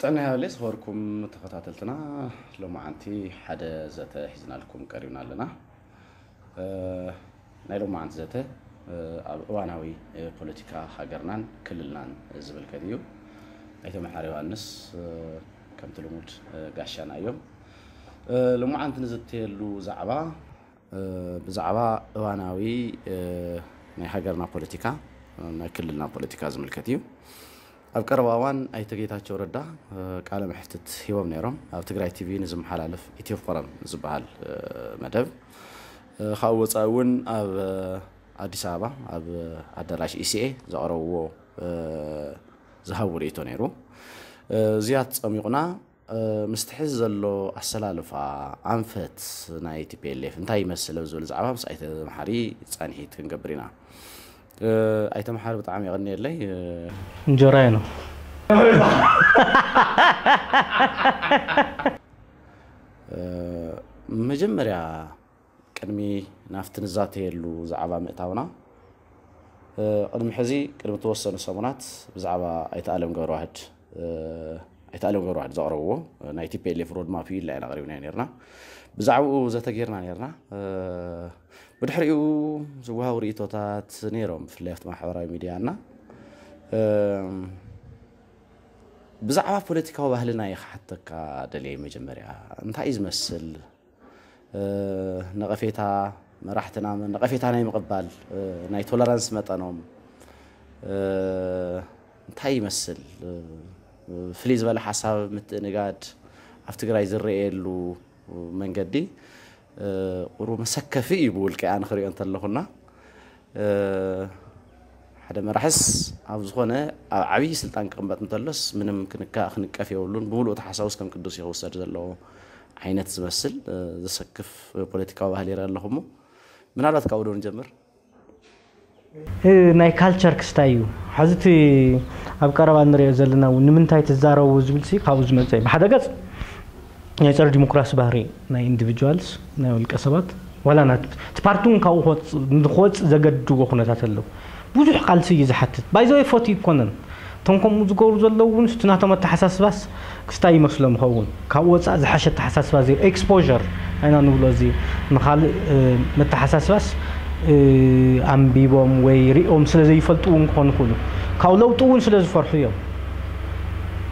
ጥዕና ይሃበለይ ዝኸበርኩም ተኸታተልትና፣ ሎማዓንቲ ሓደ ዘተ ሒዝናልኩም ቀሪብና ኣለና። እ፣ ናይ ሎማዓንቲ ዘተ፣ እ፣ ኣብ እዋናዊ፣ እ፣ ፖለቲካ ሃገርናን ክልልናን ዝምልከት እዩ። ኣይተ መሓሪ ዮሃንስ፣ እ፣ ከምቲ ልሙድ፣ እ፣ ጋሻና እዮም። እ፣ ሎማዓንቲ ንዝተየሉ ዛዕባ፣ እ፣ ብዛዕባ እዋናዊ፣ እ፣ ናይ ሃገርና ፖለቲካ፣ እ፣ ናይ ክልልና ፖለቲካ ዝምልከት እዩ። ኣብ ቀረባ እዋን ኣይተ ጌታቸው ረዳ፣ እ፣ ቃለ መሕትት ሂቦም ነይሮም። ኣብ ትግራይ ቲቪ ንዝመሓላለፍ ኢትዮ ፎረም ዝበሃል፣ እ፣ መደብ፣ እ፣ ካብኡ ወፃኢ እውን ኣብ፣ እ፣ ኣዲስ ኣበባ ኣብ ኣዳራሽ ኢሲኤ ዘቕረብዎ፣ እ፣ ዝሃብዎ ርእይቶ ነይሩ። እ፣ እዚኣ ትፀሚቑና፣ እ፣ ምስቲ ሕዚ ዘሎ ኣሰላልፋ ኣንፈት ናይ ቲፒኤልኤፍ እንታይ ይመስል ኣብ ዝብል ዛዕባ ምስ ኣይተ መሓሪ ፃንሒት ክንገብር ኢና። እ፣ ኣይተ መሓሪ ብጣዕሚ የቐንየለይ። እ፣ እንጀራይ ነው። እ፣ መጀመርያ ቅድሚ ናብቲ ንዛተየሉ ዛዕባ ምእታውና፣ እ፣ ቅድሚ ሕዚ ቅድሚ ተወሰኑ ሰሙናት ብዛዕባ ኣይተ ኣለም ገብረዋህድ፣ እ፣ ኣይተ ኣለም ገብረዋህድ ዘቕረብዎ ናይ ቲፒኤልኤፍ ሮድማፕ እዩ ኢልና ኢና ኣቕሪብናዮ ነይርና። ብዛዕባኡ ዘተ ጌርና ነይርና። እ፣ ብድሕሪኡ ዝወሃቡ ርእይቶታት ነይሮም፣ ብፍላይ ኣብቲ ማሕበራዊ ሚድያ እና፣ እ፣ ብዛዕባ ፖለቲካዊ ባህልና እየ ክሓተካ ደልየ። መጀመርያ እንታይ እዩ ዝመስል? እ፣ ነቐፌታ መራሕትና፣ ነቐፌታ ናይ ምቕባል፣ እ፣ ናይ ቶለራንስ መጠኖም፣ እ፣ እንታይ ይመስል? እ፣ ፍልይ ዝበለ ሓሳብ ምትእንጋድ ኣብ ትግራይ ዝረኣየሉ መንገዲ፣ እ፣ ቁሩብ መሰከፊ እዩ ብውልቀይ ኣነ ክሪኦ እንተለኹና። እ፣ ሓደ መራሕስ ኣብ ዝኾነ ኣብ ዓብዪ ስልጣን ክቕመጥ እንተሎስ ምንም ክንካ-፣ ክንቀፍ የብሉን። ብምሉእ ተሓሳውስ ከም ቅዱስ እዩ ክውሰድ ዘለዎ ዓይነት ዝመስል፣ እ፣ ዘሰክፍ ፖለቲካዊ ባህሊ ይርኢ ኣለኹ። እሞ ምናልባት ካብኡ ዶ ንጀምር? እ፣ ናይ ካልቸር ክስታይ እዩ። ሕዚ እቲ ኣብ ቀረባ ንሪኦ ዘለና እውን ንምንታይ ትዛረቡ ዝብል ሲ ካብኡ ዝመፀ እዩ። ብሓደ ገፅ ናይ ጸረ ዲሞክራሲ ባህሪ ናይ ኢንዲቪጁዋልስ፣ ናይ ውልቀ ሰባት፣ ዋላ ናት-፣ እቲ ፓርቲ እውን ካብኡ ክወፅ-፣ ንክወፅእ ዘገድድዎ ኩነታት ኣለዉ። ብዙሕ ቃልሲ እዩ ዝሓትት። ባይዘወይ ፎቲ ይኮነን። እቶም ከምኡ ዝገብሩ ዘለዉ እውን እቲ ናቶም ኣተሓሳስባስ ክስታይ ይመስሎም ይኸውን። ካብኡ ወፃእ ዝሓሸ ኣተሓሳስባ ዘይ-፣ ኤክስፖዠር ኣይና ንብሎ፣ እዚ ንኻልእ፣ እ፣ መተሓሳስባስ፣ እ፣ ኣንቢቦም ወይ ሪኦም ስለ ዘይፈልጡ እውን ክኾኑ ይኽእሉ። ካብ ለውጢ እውን ስለ ዝፈርሑ እዮም።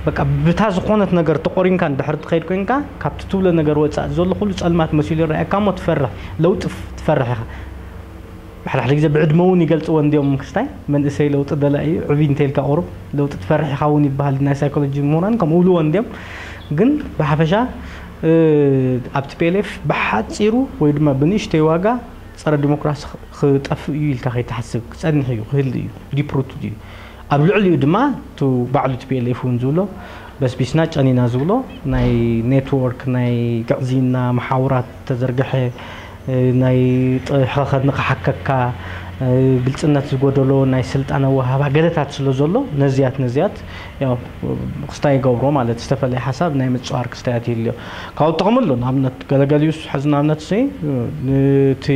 በቃ ብታ ዝኾነት ነገር ተቆሪንካ እንድሕር ትኸይድ ኮይንካ፣ ካብቲ ትብሎ ነገር ወፃእ ዘሎ ኩሉ ፀልማት መሲሉ ይረኣየካ እሞ ትፈርሕ፣ ለውጢ ፍ-፣ ትፈርሕ ኢኻ። ብሓድሓደ ግዜ ብዕድመ እውን ይገልፅዎ እንዲዮም ክስታይ፣ መንእሰይ ለውጢ ደላይ እዩ፣ ዕብይ እንተይልካ ቁሩብ ለውጢ ትፈርሕ ኢኻ እውን ይበሃል። ናይ ሳይኮሎጂ ምሁራን ከምኡ ኢልዎ እንዲዮም። ግን ብሓፈሻ፣ እ፣ ኣብ ቲ ፒ ኤል ኤፍ ብሓፂሩ ወይ ድማ ብንእሽተይ ዋጋ ፀረ ዲሞክራሲ ክ-፣ ክጠፍእ እዩ ኢልካ ከይትሓስብ፣ ክፀንሕ እዩ፣ ክህሉ እዩ፣ ዲፕ ሩትድ እዩ። ኣብ ልዕሊኡ ድማ እቱ ባዕሉ ቲ ፒ ኤል ኤፍ እውን ዝብሎ፣ በስቢስና ጨኒና ዝብሎ፣ ናይ ኔትወርክ፣ ናይ ግዕዝይና መሓውራት ተዘርግሐ፣ እ፣ ናይ ጥ-፣ ሕኸኸኒ ክሓከካ፣ እ፣ ግልፅነት ዝጎደሎ ናይ ስልጣን ኣወሃህባ ገለታት ስለ ዘሎ፣ ነዚያት፣ ነዚያት ያው ክስታይ ይገብሮ ማለት፣ ዝተፈለየ ሓሳብ ናይ ምፅዋር ክስታያት ይህልዮ። ካብኡ ጥቕሚ ኣሎ። ንኣብነት፣ ገለገሊኡስ፣ ሕዚ ንኣብነት ሲ፣ እ፣ ነቲ፣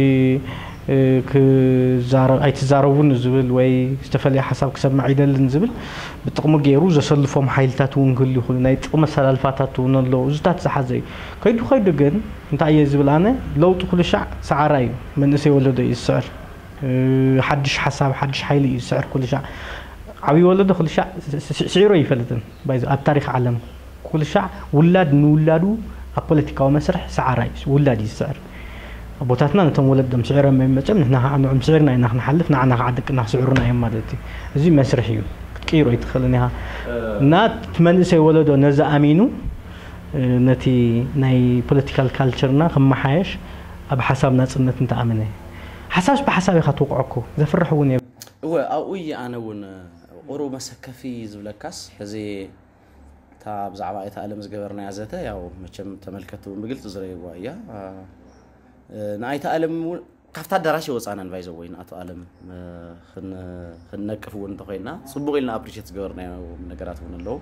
እ፣ ክዛረ-፣ ኣይትዛረቡን ዝብል ወይ ዝተፈለየ ሓሳብ ክሰምዕ ኣይደልን ዝብል ብጥቕሚ ገይሩ ዘሰልፎም ሓይልታት እውን ክህሉ ይኽእሉ። ናይ ጥቕሚ ኣሰላልፋታት እውን ኣለዉ። እዚታት ዝሓዘ እዩ። ከይዱ ከይዱ ግን እንታይ እየ ዝብል ኣነ፣ ለውጢ ኩሉ ሻዕ ሰዓራ እዩ። መንእሰይ ወለዶ እዩ ዝስዕር። እ፣ ሓድሽ ሓሳብ፣ ሓድሽ ሓይሊ እዩ ዝስዕር ኩሉ ሻዕ። ዓብዪ ወለዶ ኩሉ ሻዕ ስ-፣ ስ-፣ ስዒሩ ኣይፈልጥን። ባይዘ-፣ ኣብ ታሪኽ ዓለም ኩሉ ሻዕ ውላድ ንውላዱ ኣብ ፖለቲካዊ መስርሕ ሰዓራ እዩ፣ ውላድ እዩ ዝስዕር። ኣቦታትና ነቶም ወለዶም ስዒሮም እዮም መፅኦም፣ ንሕና ከዓ ንዕኦም ስዒርና ኢና ክንሓልፍ፣ ንዓና ከዓ ደቅና ክስዕሩና እዮም ማለት እዩ። እዚ መስርሕ እዩ፣ ክትቅይሮ ኣይትኽእልን ኢኻ። እና እቲ መንእሰይ ወለዶ ነዚ ኣሚኑ፣ እ፣ ነቲ ናይ ፖለቲካል ካልቸርና ክመሓየሽ ኣብ ሓሳብ ናፅነት እንተኣመነ፣ ሓሳብስ ብሓሳብ ኢኻ ትውቕዖ እኮ፣ ዘፍርሕ እውን የብሉን። እወ፣ ኣብኡ እየ ኣነ እውን ቁሩብ መሰከፊ ዝብለካስ፣ ሕዚ እታ ብዛዕባ ኣይተ ኣለም ዝገበርናያ ዘተ፣ ያው መቸም ተመልከትቲ እውን ብግልፂ ዝረእይዋ እያ። እ፣ ንኣይተ ኣለም እውን ካብታ ኣዳራሽ የወፃናን፣ ባይዘወይ ንኣቶ ኣለም፣ እ፣ ክን-፣ ክንነቅፍ እውን እንተኮይና፣ ፅቡቕ ኢልና ኣፕሪሼት ዝገበርናዮ ነገራት እውን ኣለዉ።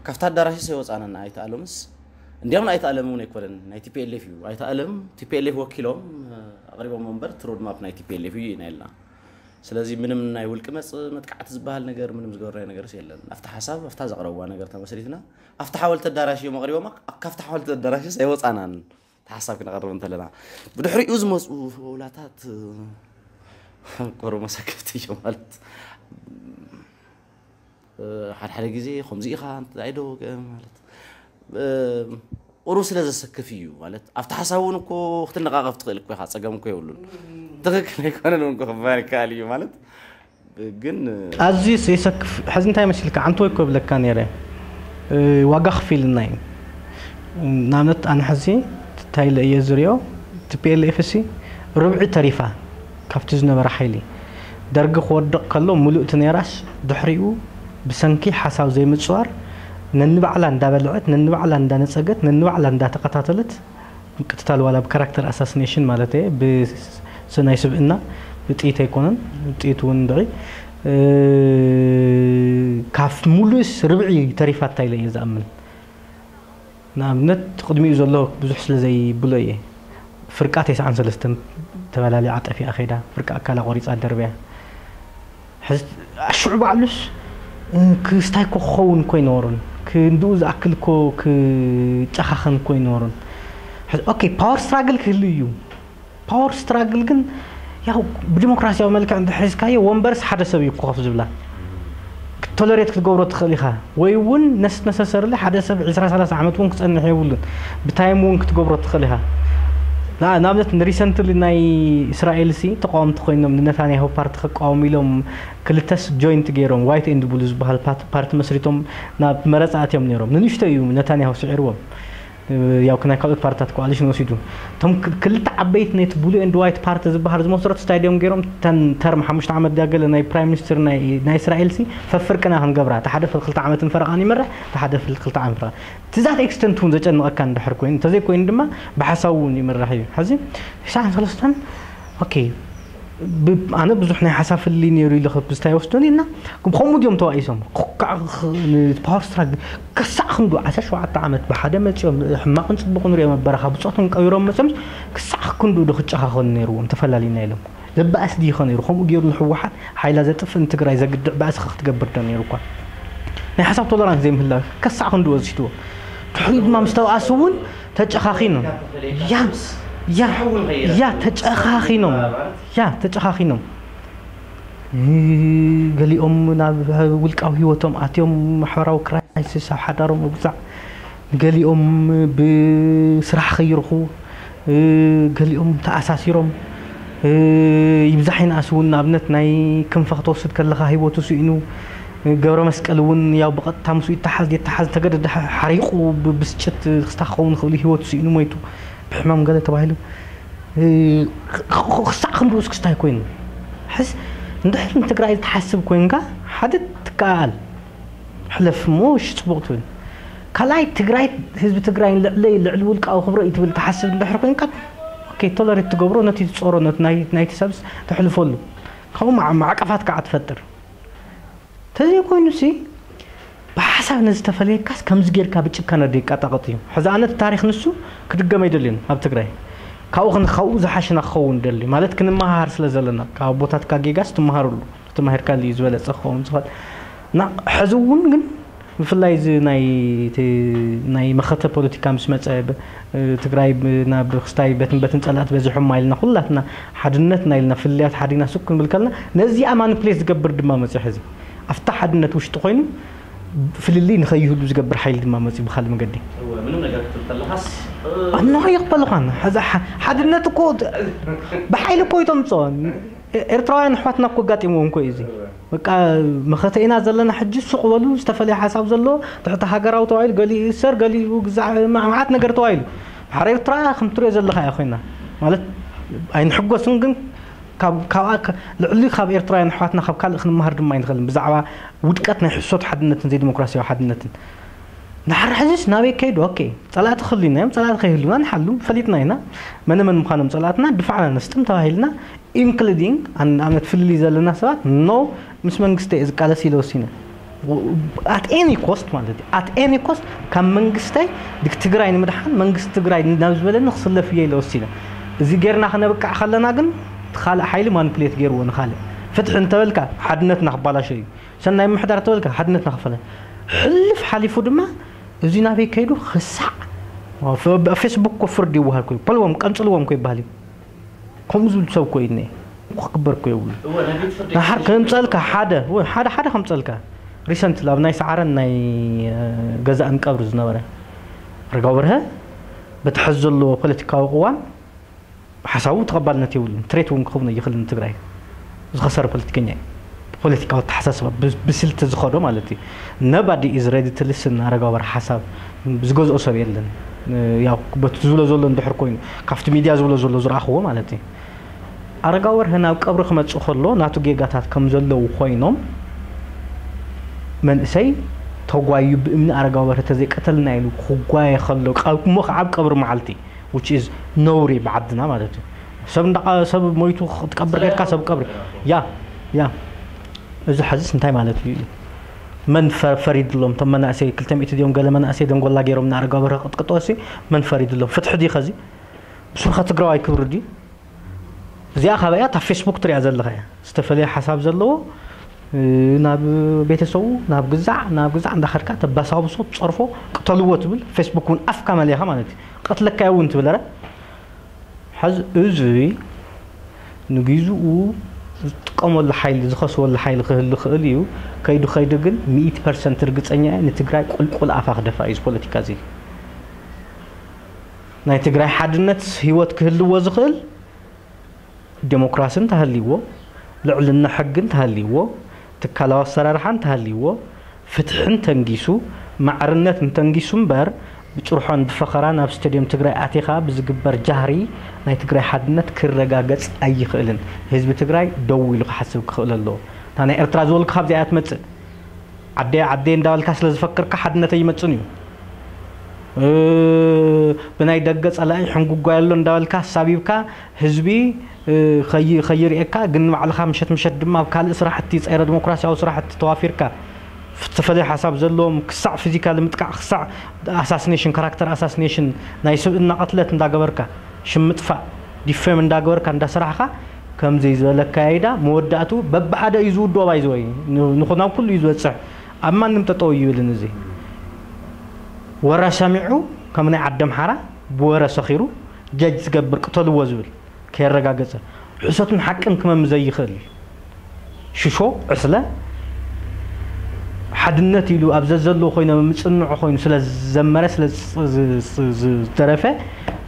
ካብታ ኣዳራሽስ የወፃናን ንኣይተ ኣለምስ። እንዲያውም ንኣይተ ኣለም እውን ኣይኮነን፣ ናይ ቲ ፒ ኤል ኤፍ እዩ። ኣይተ ኣለም ቲ ፒ ኤል ኤፍ ወኪሎም፣ እ፣ ኣቕሪቦም እምበር፣ እቲ ሮድማፕ ናይ ቲ ፒ ኤል ኤፍ እዩ ኢና ኢልና። ስለዚ ምንም ናይ ውልቂ መፅ መጥቃዕቲ ዝበሃል ነገር ምንም ዝገበርናዮ ነገርስ የለን። ኣብቲ ሓሳብ ኣብታ ዘቕረብዋ ነገር ተመስሪትና ኣብቲ ሓወልቲ ኣዳራሽ እዮም ኣቕሪቦማ። ካብቲ ሓወልቲ ኣዳራሽስ ኣይወፃናን። እቲ ሓሳብ ክነቕርብ እንተለና ብድሕሪኡ ዝመፁ ውላታት ቆሮ መሰከፍቲ እዮም ማለት ሓደ ሓደ ግዜ ከምዚ ኢኻ እንታይ ዶ ማለት ቁሩብ ስለ ዘሰክፍ እዩ ማለት ኣብቲ ሓሳብ እውን እኮ ክትነቃቀፍ ትኽእል እኮ ኢኻ። ፀገም እኮ የብሉን። ትኽክል ኣይኮነን እውን ክባል ይከኣል እዩ ማለት ግን ኣዝዩ የሰክፍ። ሕዚ እንታይ መሲልካ ዓንተወይ እኮ ብለካ ነይረ። ዋጋ ክፊልና እዩ። ንኣብነት ኣነ ሕዚ እንታይ ኢለ እየ ዝሪኦ? ቲ ፒ ኤል ኤፍ ሲ ርብዒ ተሪፋ ካብቲ ዝነበረ ሓይሊ። ደርጊ ክወድቕ ከሎ ምሉእቲ ነይራስ ድሕሪኡ ብሰንኪ ሓሳብ ዘይምፅዋር ነንባዕላ እንዳበልዐት ነንባዕላ እንዳነፀገት ነንባዕላ እንዳተኸታተለት ምቅትታል ዋላ ብካራክተር ኣሳሲኔሽን ማለት እየ ብናይ ስብእና ብጥይት ኣይኮነን። ጥይት እውን ድዒ ካብ ሙሉእስ ርብዒ ተሪፋታ ኢለ እየ ዝኣምን። ንኣብነት ቅድሚኡ ዘሎ ብዙሕ ስለ ዘይብሎ እየ። ፍርቃ ተስዓን ሰለስተን ተበላሊዓ ጠፊኣ ከይዳ ፍርቃ ኣካላ ቆሪፃ ደርብያ። ሕዚ ሽዑ ባዕሉስ ክስታይ እኮ ክኸውን እኮ ኣይነበሮን። ክንድኡ ዝኣክል እኮ ክጨኻኸን እኮ ኣይነበሮን። ኦኬ ፓወር ስትራግል ክህሉ እዩ። ፓወር ስትራግል ግን ያው ብዲሞክራሲያዊ መልክዕ እንድሕር ሒዝካዮ ወንበርስ ሓደ ሰብ እዩ ኮፍ ዝብላ። ቶለሬት ክትገብሮ ትኽእል ኢኻ ወይ እውን ነስ ነሰሰርሊ ሓደ ሰብ ዕስራ ሰላሳ ዓመት እውን ክፀንሕ የብሉን። ብታይም እውን ክትገብሮ ትኽእል ኢኻ። ንኣብነት ንሪሰንትሊ ናይ እስራኤል ሲ ተቃወምቲ ኮይኖም ንነታንያሁ ፓርቲ ክቃወሙ ኢሎም ክልተስ ጆይንት ገይሮም ዋይት ኤንድ ብሉ ዝበሃል ፓርቲ መስሪቶም ናብ መረፃ ኣትዮም ነይሮም። ንንሽቶ እዩ ነታንያሁ ስዒርዎም። ያው ናይ ካልኦት ፓርትታት ኮኣሊሽን ወሲዱ እቶም ክልተ ዓበይቲ ነቲ ብሉ ኤንድ ዋይት ፓርቲ ዝበሃል ዝመስረቱ ስታዲዮም ገይሮም ተን ተርም ሓሙሽተ ዓመት ድያ ገለ ናይ ፕራይም ሚኒስትር ናይ እስራኤል ሲ ፈፍርቅና ክንገብራ እቲ ሓደ ክልተ ዓመትን ፈረቓን ይመርሕ እቲ ሓደ ክልተ ዓመት ፈረቓ ትዛት ኤክስተንት እውን ዘጨንቐካ እንድሕር ኮይኑ እንተዘይኮይኑ ድማ ብሓሳቡ እውን ይምራሕ እዩ። ሕዚ ሽሳን ሰለስተን ኦኬ ኣነ ብዙሕ ናይ ሓሳብ ፍልልይ ነይሩ ኢለ ብዝታይ ወስዶ ኒና ከምኡ ድዮም ተባኢሶም ፓወር ስትራግል ክሳዕ ክንዱ ዓሰርተ ሸውዓተ ዓመት ብሓደ መፂኦም ሕማቕን ፅቡቕ ንሪኦም ኣበረኻ ብፆቶም ቀቢሮም መፅኦም ክሳዕ ክንዱ ዶ ክጨኻኸኑ ነይርዎም ተፈላሊና ኢሎም ዘበኣስ ድይኸ ነይሩ ከምኡ ገይሩ ንሕወሓት ሓይላ ዘጥፍእ ንትግራይ ዘግድዕ ባእሲ ክትገብር ዶ ነይሩ እኳ ናይ ሓሳብ ቶለራንስ ዘይምህላው ከሳዕ ክንዱ ወሲድዎ ድሕሪኡ ድማ ምስ ተባኣሱ እውን ተጨኻኺኖም ያ ያ ያ ተጨኻኺኖም ያ ተጨኻኺኖም ገሊኦም ናብ ውልቃዊ ህይወቶም ኣትዮም ማሕበራዊ ክራይሲስ ኣብ ሓዳሮም ምጉዛዕ ገሊኦም ብስራሕ ከይርኹ ገሊኦም ተኣሳሲሮም ይብዛሕ ይንኣስ እውን ንኣብነት ናይ ክንፈ ክትወስድ ከለኻ ህይወቱ ስኢኑ ገብረ መስቀል እውን ያው ብቐጥታ ምስኡ ይተሓዝ የተሓዝ ተገደደ ሓሪቑ ብብስጭት ክስታ ክኸውን ክኽእል ህይወቱ ስኢኑ ሞይቱ ብሕማም ገለ ተባሂሉ ክሳዕ ክንድኡስ ክስታይ ኮይኑ ሕስ እንድሕር ንትግራይ ትሓስብ ኮይንካ ሓደ ትከኣል ሕለፍ እሞ እሺ ፅቡቕ ትብል ካልኣይ ትግራይ ህዝቢ ትግራይ ልዕለይ ልዕሊ ውልቃዊ ክብረ እዩ ትብል ትሓስብ እንድሕር ኮይንካ ኦኬ ቶለሬት ትገብሮ ነቲ ትፀሮ ናይቲ ሰብስ ተሕልፈሉ ካብኡ ማዕቀፋት ከዓ ትፈጥር ተዘይኮይኑ ሲ ብሓሳብ ነዚ ተፈለየካስ ከምዚ ጌርካ ብጭካነ ዶ ይቃጣቀጥ እዩ ሕዚ ኣነ እቲ ታሪክ ንሱ ክድገም ኣይደልዮን ኣብ ትግራይ ካብኡ ክንካብኡ ዝሓሸና ክኸውን ደሊ ማለት ክንመሃሃር ስለ ዘለና ካብ ኣቦታትካ ጌጋስ ትመሃርሉ ተማሂርካሉ እዩ ዝበለፀ ክኸውን ዝኽእል እና ሕዚ እውን ግን ብፍላይ እዚ ናይ እቲ ናይ መኸተ ፖለቲካ ምስ መፀ ብ- ትግራይ ብ- ናብ ክስታይ በትን በትን ፀላእቲ በዚሖም ኢልና ኩላትና ሓድነትና ኢልና ፍልያት ሓዲና ሱቅ ክንብል ከለና ነዚኣ ማኒፕሌት ዝገብር ድማ መፅዮ ሕዚ ኣብታ ሓድነት ውሽጢ ኮይኑ ፍልልይ ንኸይህሉ ዝገብር ሓይሊ ድማ መፅዩ ብካልእ መገዲ እወ፣ ምንም ነገር ክትብል ከለኻስ እ፣ ኣኖ ይቕበልኳን ሓድነት እኮ ብሓይሊ እኮ ይተምፅኦ ኤርትራውያን ኣሕዋትና እኮ ኣጋጢምዎም እኮ እዩ እዚ በቃ መኸተ ኢና ዘለና ሕጂ ሱቕ በሉ ዝተፈለየ ሓሳብ ዘለዎ ትሕቲ ሃገራዊ ተባሂሉ ገሊኡ ይእሰር ገሊኡ ግዛዕ መዓት ነገር ተባሂሉ ሓረ ኤርትራ ከም ትሪኦ ዘለኻ እያ ኮይና ማለት ኣይንሕጎስን ግን ልዕሊ ካብ ኤርትራውያን ኣሕዋትና ካብ ካልእ ክንመሃር ድማ ኣይንኽእልን ብዛዕባ ውድቀት ናይ ሕሶት ሓድነትን ዘይዲሞክራሲያዊ ሓድነትን ንሓረ ሕዚስ ናበይ ከይዱ ኦኬ ጸላእቲ ክህሉና እዮም ጸላእቲ ከይህሉና ንሓሉ ፈሊጥና ኢና መነ መን ምዃኖም ጸላእትና ድፋዕና ነስጥም ተባሂልና including ንኣብነት ፍልልይ ዘለና ሰባት no ምስ መንግስቲ እየ ዝቃለስ ኢለ ወሲነ at any cost ማለት እዩ at any cost ካብ መንግስተይ ትግራይ ንምድሓን መንግስቲ ትግራይ ናብ ዝበለኒ ክስለፍ እየ ኢለ ወሲነ እዚ ጌርና ክነብቅዕ ከለና ግን እቲ ካልእ ሓይሊ ማኒፕሌት ገይርዎ ንካልእ ፍትሒ እንተበልካ ሓድነትና ክባላሾ እዩ። ሰናይ ምሕዳር ተበልካ ሓድነትና ክፈለ። ሕልፍ ሓሊፉ ድማ እዚ ናበይ ከይዱ ክሳዕ ፌስቡክ እኮ ፍርዲ ይወሃድ ኮይኑ ፖልዎም ቀንፅልዎም እኮ ይበሃል እዩ። ከምኡ ዝብል ሰብ እኮ እዩ እኒኤ። ክግበር እኮ የብሉ። ንሓር ከምፀልካ ሓደ ሓደ ሓደ ከምፀልካ ሪሰንት ኣብ ናይ ሰዓረን ናይ ገዛእን ቀብሪ ዝነበረ ኣረጋዊ በርሀ በቲ ሕዚ ዘለዎ ፖለቲካዊ ቅዋም ሓሳቡ ተቐባልነት የብሉን። ትሬት እውን ክኸውን ኣይኽእልን። ትግራይ ዝኸሰረ ፖለቲከኛ እዩ። ብፖለቲካዊ ኣተሓሳስባ ብስልቲ ዝኸዶ ማለት እዩ። Nobody is ready to listen ኣረጋዊ በርሀ ሓሳብ ዝገዝኦ ሰብ የለን። ያው በቲ ዝብሎ ዘሎ እንድሕር ኮይኑ ካብቲ ሚድያ ዝብሎ ዘሎ ዝረኣኽዎ ማለት እዩ። ኣረጋዊ በርሀ ናብ ቀብሪ ክመፅእ ከሎ ናቱ ጌጋታት ከም ዘለዉ ኮይኖም መንእሰይ ተጓዩ ብእምኒ ኣረጋዊ በርሀ ተዘይቀተልና ኢሉ ክጓየ ከሎ እሞ ከዓ ኣብ ቀብሪ መዓልቲ which is ነውሪ ብዓድና ማለት እዩ። ሰብ እንዳ ሰብ ሞይቱ ክትቀብር ጌርካ ሰብ ቀብሪ ያ ያ እዚ ሐዚስ እንታይ ማለት እዩ? መን ፈሪድሎም? እቶም መናእሰይ ክልተ ሚእቲ ድዮም ገለ መናእሰይ ደንጎላ ገይሮም ንኣረጋዊ በርሀ ቅጥቅጦ ሲ መን ፈሪድሎም? ፍትሒ ድዩ ኸዚ? ብሱርካ ትግራዋይ ክብሪ ድዩ? እዚኣ ካበያ እታ ፌስቡክ ትሪኣ ዘለኻ እያ። ዝተፈለየ ሓሳብ ዘለዎ ናብ ቤተሰቡ ናብ ግዛዕ ናብ ግዛዕ እንዳኸድካ ተባሳብሶ ትፀርፎ ቅተልዎ ትብል ፌስቡክ እውን ኣፍካ መሊኻ ማለት እዩ። ቀትለካ እውን ትብል ረ ሐዚ እዚ ንግዝኡ ዝጥቀመሉ ሓይሊ ዝኸስወሉ ሓይሊ ክህሉ ክእል እዩ። ከይዱ ከይዱ ግን ሚእቲ ፐርሰንት ርግፀኛ እየ ንትግራይ ቁልቁል ኣፋ ክደፋ እዩ። እዚ ፖለቲካ እዚ ናይ ትግራይ ሓድነት ህይወት ክህልዎ ዝኽእል ዴሞክራሲ እንተሃልይዎ፣ ልዕልና ሕጊ እንተሃልይዎ፣ ትካላዊ ኣሰራርሓ እንተሃልይዎ፣ ፍትሒ እንተንጊሱ፣ ማዕርነት እንተንጊሱ እምበር ብጭርሖን ብፈኸራን ኣብ ስቴድየም ትግራይ ኣቲኻ ብዝግበር ጃህሪ ናይ ትግራይ ሓድነት ክረጋገፅ ኣይኽእልን። ህዝቢ ትግራይ ደው ኢሉ ክሓስብ ክኽእል ኣለዎ። እታ ናይ ኤርትራ ዝበልኩ ካብዚኣ እያ ትመፅእ። ዓደየ ዓደየ እንዳበልካ ስለ ዝፈክርካ ሓድነት ኣይመፅን እዩ። ብናይ ደገ ፀላኢ ሕንጉጓይ ኣሎ እንዳበልካ ኣሳቢብካ ህዝቢ ከይርእየካ ግን ንባዕልኻ ምሸት ምሸት ድማ ኣብ ካልእ ስራሕቲ ፀረ ዲሞክራሲያዊ ስራሕቲ ተዋፊርካ ዝተፈለየ ሓሳብ ዘለዎም ክሳዕ ፊዚካሊ ምጥቃዕ ክሳዕ ኣሳሲኔሽን ካራክተር ኣሳሲኔሽን ናይ ስብእና ቅትለት እንዳገበርካ ሽም ምጥፋእ ዲፌም እንዳገበርካ እንዳሰራሕኻ ከምዚ ዝበለ ኣካያይዳ መወዳእቱ በብሓደ እዩ ዝውድኦ ባይዘወይ ንኹናብ ኩሉ እዩ ዝበፅሕ ኣብ ማንም ጠጠው ይብልን እዚ ወረ ሰሚዑ ከም ናይ ዓዲ ኣምሓራ ብወረ ሰኺሩ ጀጅ ዝገብር ቅተልዎ ዝብል ከየረጋገፀ ሕሰትን ሓቅን ክመም ዘይኽእል ሽሾ ዕስለ ሓድነት ኢሉ ኣብ ዘዘለዎ ኮይኖም ምፅንዑ ኮይኑ ስለ ዝዘመረ ስለ ዝደረፈ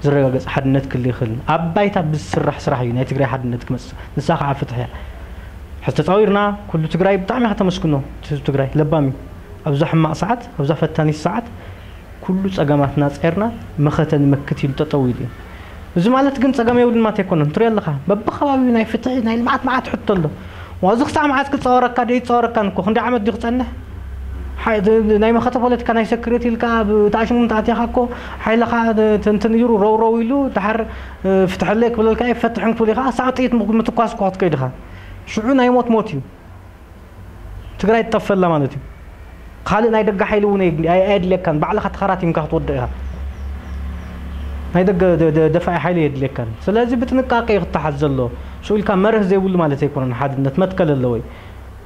ዝረጋገፅ ሓድነት ክል ይኽእል ኣብ ባይታ ብዝስራሕ ስራሕ እዩ ናይ ትግራይ ሓድነት ክመፅእ ንሳ ከዓ ፍትሕ እያ ሕዚ ተፃዊርና ኩሉ ትግራይ ብጣዕሚ ከተመስግኖ ህዝቢ ትግራይ ለባም እዩ ኣብዛ ሕማቕ ሰዓት ኣብዛ ፈታኒት ሰዓት ኩሉ ፀገማትና ፀርና መኸተ ንመክት ኢሉ ጠጠው ኢሉ እዩ እዚ ማለት ግን ፀገም የብሉን ማለት ኣይኮነን ትሪኦ ኣለካ በብከባቢኡ ናይ ፍትሒ ናይ ልምዓት መዓት ሕቶ ኣሎ ዋዚ ክሳዕ መዓት ክፃወረካ ዶ ይፃወረካን እኮ ክንደይ ዓመት ድዩ ክፀንሕ ናይ መኸተ ፖለቲካ ናይ ሰክሬት ኢልካ ብተኣሽሙ ተኣቲኻ እኮ ሓይልኻ ትንትን ይሩ ረውረው ኢሉ ድሓር ፍትሐለይ ክብለልካ ይፈትሕን ክብል ኢኻ ሳዕ ጥይት ምትኳስ እኮ ክትከይድ ኢኻ ሽዑ ናይ ሞት ሞት እዩ ትግራይ ትጠፈላ ማለት እዩ ካልእ ናይ ደገ ሓይሊ እውን ኣየድልየካን ባዕልኻ ተኸራቲምካ ክትወድቕ ኢኻ ናይ ደገ ደፋኢ ሓይሊ የድልየካን ስለዚ ብጥንቃቄ እዩ ክተሓዝ ዘሎ ሽኡ ኢልካ መርህ ዘይብሉ ማለት ኣይኮነን ሓድነት መትከል ኣለዎ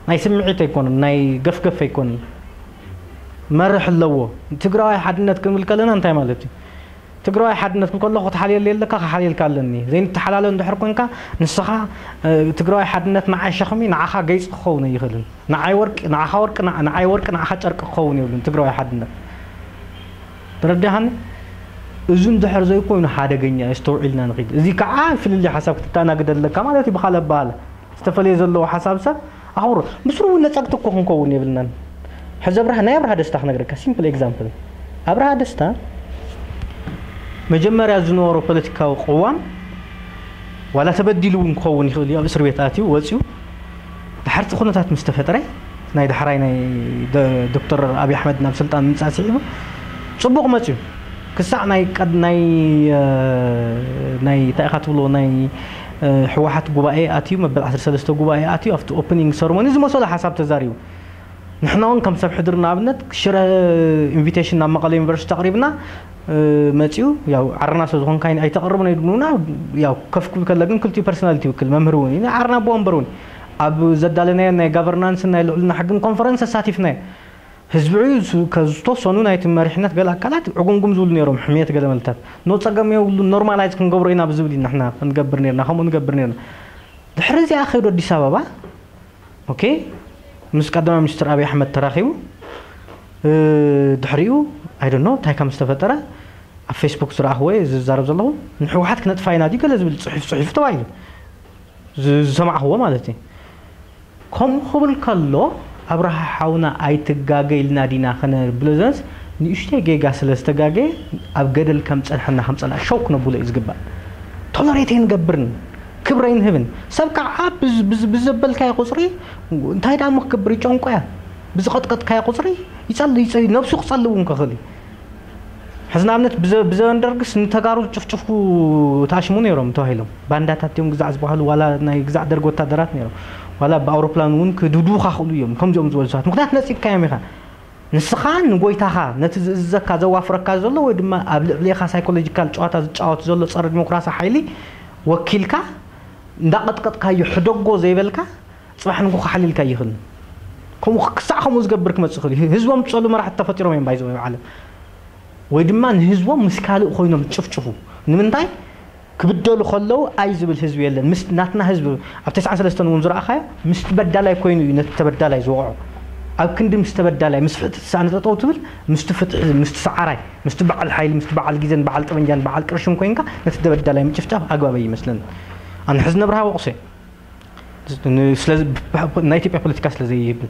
ናይ ስምዒት ኣይኮነን ናይ ገፍገፍ ኣይኮነን መርሕ ኣለዎ ትግራዋይ ሓድነት ክንብል ከለና እንታይ ማለት እዩ ትግራዋይ ሓድነት ክብል ከለኹ ክትሓልየሉ የለካ ክሓልየልካ ኣለኒ ዘይንተሓላለ እንድሕር ኮንካ ንስኻ ትግራዋይ ሓድነት ንዓይ ሸኽሚ ንዓኻ ገይፂ ክኸውን ኣይኽእልን ንዓይ ወርቂ ንዓኻ ወርቂ ንዓይ ወርቂ ንዓኻ ጨርቂ ክኸውን የብሉን ትግራዋይ ሓድነት ተረዲኻኒ እዚ እንድሕር ዘይኮይኑ ሓደገኛ እዩ ኣስተውዒልና ንኺድ እዚ ከዓ ፍልልይ ሓሳብ ክትተኣናግድ ኣለካ ማለት እዩ ብኻልእ ኣበሃህላ ዝተፈለየ ዘለዎ ሓሳብ ሰብ ኣኽብሮ ምስሩ እውን ነፀግቲ እኮ ክንከውን የብልናን ሕዚ ኣብርሃ ናይ ኣብርሃ ደስታ ክነግረካ ሲምፕል ኤግዛምፕል ኣብርሃ ደስታ መጀመርያ ዝነበሮ ፖለቲካዊ ቅዋም ዋላ ተበዲሉ እውን ክኸውን ይኽእል እዩ ኣብ እስር ቤት ኣትዩ ወፅዩ ድሓርቲ ኩነታት ምስ ተፈጥረ ናይ ዳሕራይ ናይ ዶክተር ኣብይ ኣሕመድ ናብ ስልጣን ምምፃእ ስዒቡ ፅቡቕ መፅዩ ክሳዕ ናይ ቀድ ናይ ናይ እንታይ ኢኻ ትብሎ ናይ ህወሓት ጉባኤ ኣትዩ መበል ዓሰርተ ሰለስተ ጉባኤ ኣትዩ ኣብቲ ኦፕኒንግ ሰርሞኒ ዝመሰሎ ሓሳብ ተዛሪቡ ንሕና እውን ከም ሰብ ሕድሪ ንኣብነት ሽረ ኢንቪቴሽን ናብ መቐለ ዩኒቨርሲቲ ኣቕሪብና መፂኡ ያው ዓርና ስለ ዝኾንካ ኣይተቕርብን ኣይድብሉና ያው ከፍ ክብል ከለ ግን ክልቲኡ ፐርሶናሊቲ ይውክል መምህር እውን እዩ ዓርና ኣቦ ወንበር እውን ኣብ ዘዳለናዮ ናይ ጋቨርናንስን ናይ ልዕልና ሕግን ኮንፈረንስ ተሳቲፍና። ህዝቢ ዝተወሰኑ ናይቲ መሪሕነት ገለ ኣካላት ዕጉምጉም ዝብሉ ነይሮም፣ ሕምየት ገለ መልታት ኖ ጸገም የብሉ፣ ኖርማላይዝ ክንገብሮ ኢና ብዝብል ኢና ንሕና ክንገብር ነርና፣ ከምኡ ንገብር ነርና። ድሕሪ እዚኣ ከይዱ ኣዲስ ኣበባ፣ ኦኬ፣ ምስ ቀዳማይ ሚኒስትር ኣብይ ኣሕመድ ተራኺቡ። ድሕሪኡ ኣይደኖ እንታይ ከም ዝተፈጠረ ኣብ ፌስቡክ ዝረኣኽዎ ዝዛረብ ዘለኹ፣ ንሕወሓት ክነጥፋ ኢና ድዩ ገለ ዝብል ፅሑፍ ፅሒፉ ተባሂሉ ዝሰማዕኽዎ ማለት እዩ። ከምኡ ክብል ከሎ ኣብርሃ ሓውና ኣይትጋገ ኢልና ዲና ከነብሎ ዘንስ ንእሽተይ ጌጋ ስለ ዝተጋገየ ኣብ ገደል ከም ፀንሐና ከም ፀላእ ሸው ክነብሎ እዩ ዝግባእ። ቶለሬት ኣይንገብርን፣ ክብሪ ኣይንህብን። ሰብ ከዓ ብዘበልካዮ ቁፅሪ እንታይ ደኣ እሞ ክገብር ይጨንቆ እያ። ብዝቐጥቀጥካዮ ቁፅሪ ይፀል ነብሱ ክፀልእ እውን ክኽእል እዩ። ሕዚ ንኣብነት ብዘበን ደርግስ ንተጋሩ ዝጭፍጭፉ ተኣሽሙ ነይሮም ተባሂሎም ባንዳታት እዮም ግዛዕ ዝበሃሉ ዋላ ናይ ግዛዕ ደርግ ወታደራት ነይሮም ዋላ ብኣውሮፕላን እውን ክድብድቡኻ ክእሉ እዮም። ከምዚኦም ዝበሉ ሰባት ምክንያት ነፂግካዮም ኢኻ። ንስኻ ንጎይታኻ ነቲ ዝእዝዘካ ዘዋፍረካ ዘሎ ወይ ድማ ኣብ ልዕሌኻ ሳይኮሎጂካል ጨዋታ ዝጫወት ዘሎ ፀረ ዲሞክራሲ ሓይሊ ወኪልካ እንዳቐጥቀጥካዮ ሕደጎ ዘይበልካ ፅባሕ ንጎ ክሓልልካ ይኽእል። ከምኡ ክሳዕ ከምኡ ዝገብር ክመፅእ ይኽእል እዩ። ህዝቦም ዝፀሉ መራሕቲ ተፈጢሮም እዮም ባይዘው ዓለም ወይ ድማ ንህዝቦም ምስ ካልእ ኮይኖም ዝጭፍጭፉ። ንምንታይ ክብደሉ ከለዉ ኣይ ዝብል ህዝቢ የለን። ምስ ናትና ህዝቢ ኣብ ተስዓን ሰለስተን እውን ዝረኣኻዮ ምስቲ በዳላይ ኮይኑ እዩ ነቲ ተበዳላይ ዝወቕዖ። ኣብ ክንዲ ምስቲ ተበዳላይ ምስ ፍትሒ ተሳእነ ጠጠው ትብል ምስቲ ፍትሒ ምስቲ ሰዓራይ ምስቲ በዓል ሓይሊ ምስቲ በዓል ግዜን በዓል ጠበንጃን በዓል ቅርሽን ኮይንካ ነቲ ተበዳላይ ምጭፍጫፍ ኣግባብ ኣይመስለኒ። ኣነ ሕዚ ነብርሃ ወቕሶ እየ። ስለዚ ናይ ኢትዮጵያ ፖለቲካ ስለ ዘይብል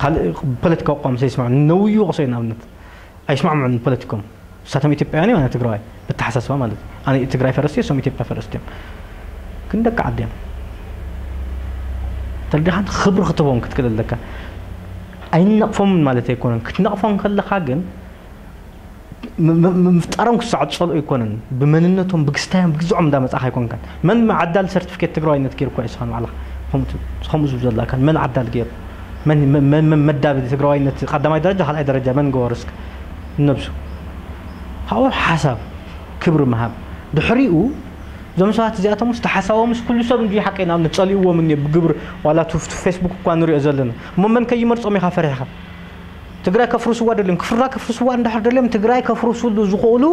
ካልእ ፖለቲካ ኣቋም ስለ ይስማዕ ነውዩ ወቕሶ እየ ንኣብነት ኣይስማዕምዑን ፖለቲኮም። ንሳቶም ኢትዮጵያውያን እዮም ኣነ ትግራዋይ ብተሓሳስባ ማለት እዩ። ኣነ ትግራይ ፈረስቲ እዮም እሶም ኢትዮጵያ ፈረስቲ እዮም። ግን ደቂ ዓዲ እዮም። ተረዲኻን ክብሪ ክትቦም ክትክእል ኣለካ። ኣይነቕፎምን ማለት ኣይኮነን ክትነቕፎም ከለኻ ግን ምፍጣሮም ክሳዕ ዝፀልኦ ኣይኮነን። ብመንነቶም ብግስታዮም ብግዝዖም እንዳመፃእካ ኣይኮንካን። መን ዓዳል ሰርቲፊኬት ትግራዋይነት ገይርኳ እዩ ስኻን ባዕልኻ ከምኡ ዝብል ዘለካን መን ዓዳል ገይሩ መን መዳብ ትግራዋይነት ቀዳማይ ደረጃ ካልኣይ ደረጃ መን ገበሩ እስከ ነብሱ ካብኡ ሓሳብ ክብሪ ምሃብ ድሕሪኡ እዞም ሰባት እዚኣቶም ውስጥ ሓሳቦም ምስ ኩሉ ሰብ እንዲ ሓቀይ ንኣብነት ፀሊእዎም እኒ ብግብር ዋላ ቱ ፌስቡክ እኳ ንሪኦ ዘለና እሞ መን ከይመርፆም ኢኻ ፈሪሕኻ ትግራይ ከፍርስዋ ደልዮም ክፍራ ከፍርስዋ እንዳሕር ደልዮም ትግራይ ከፍርስሉ ዝኽእሉ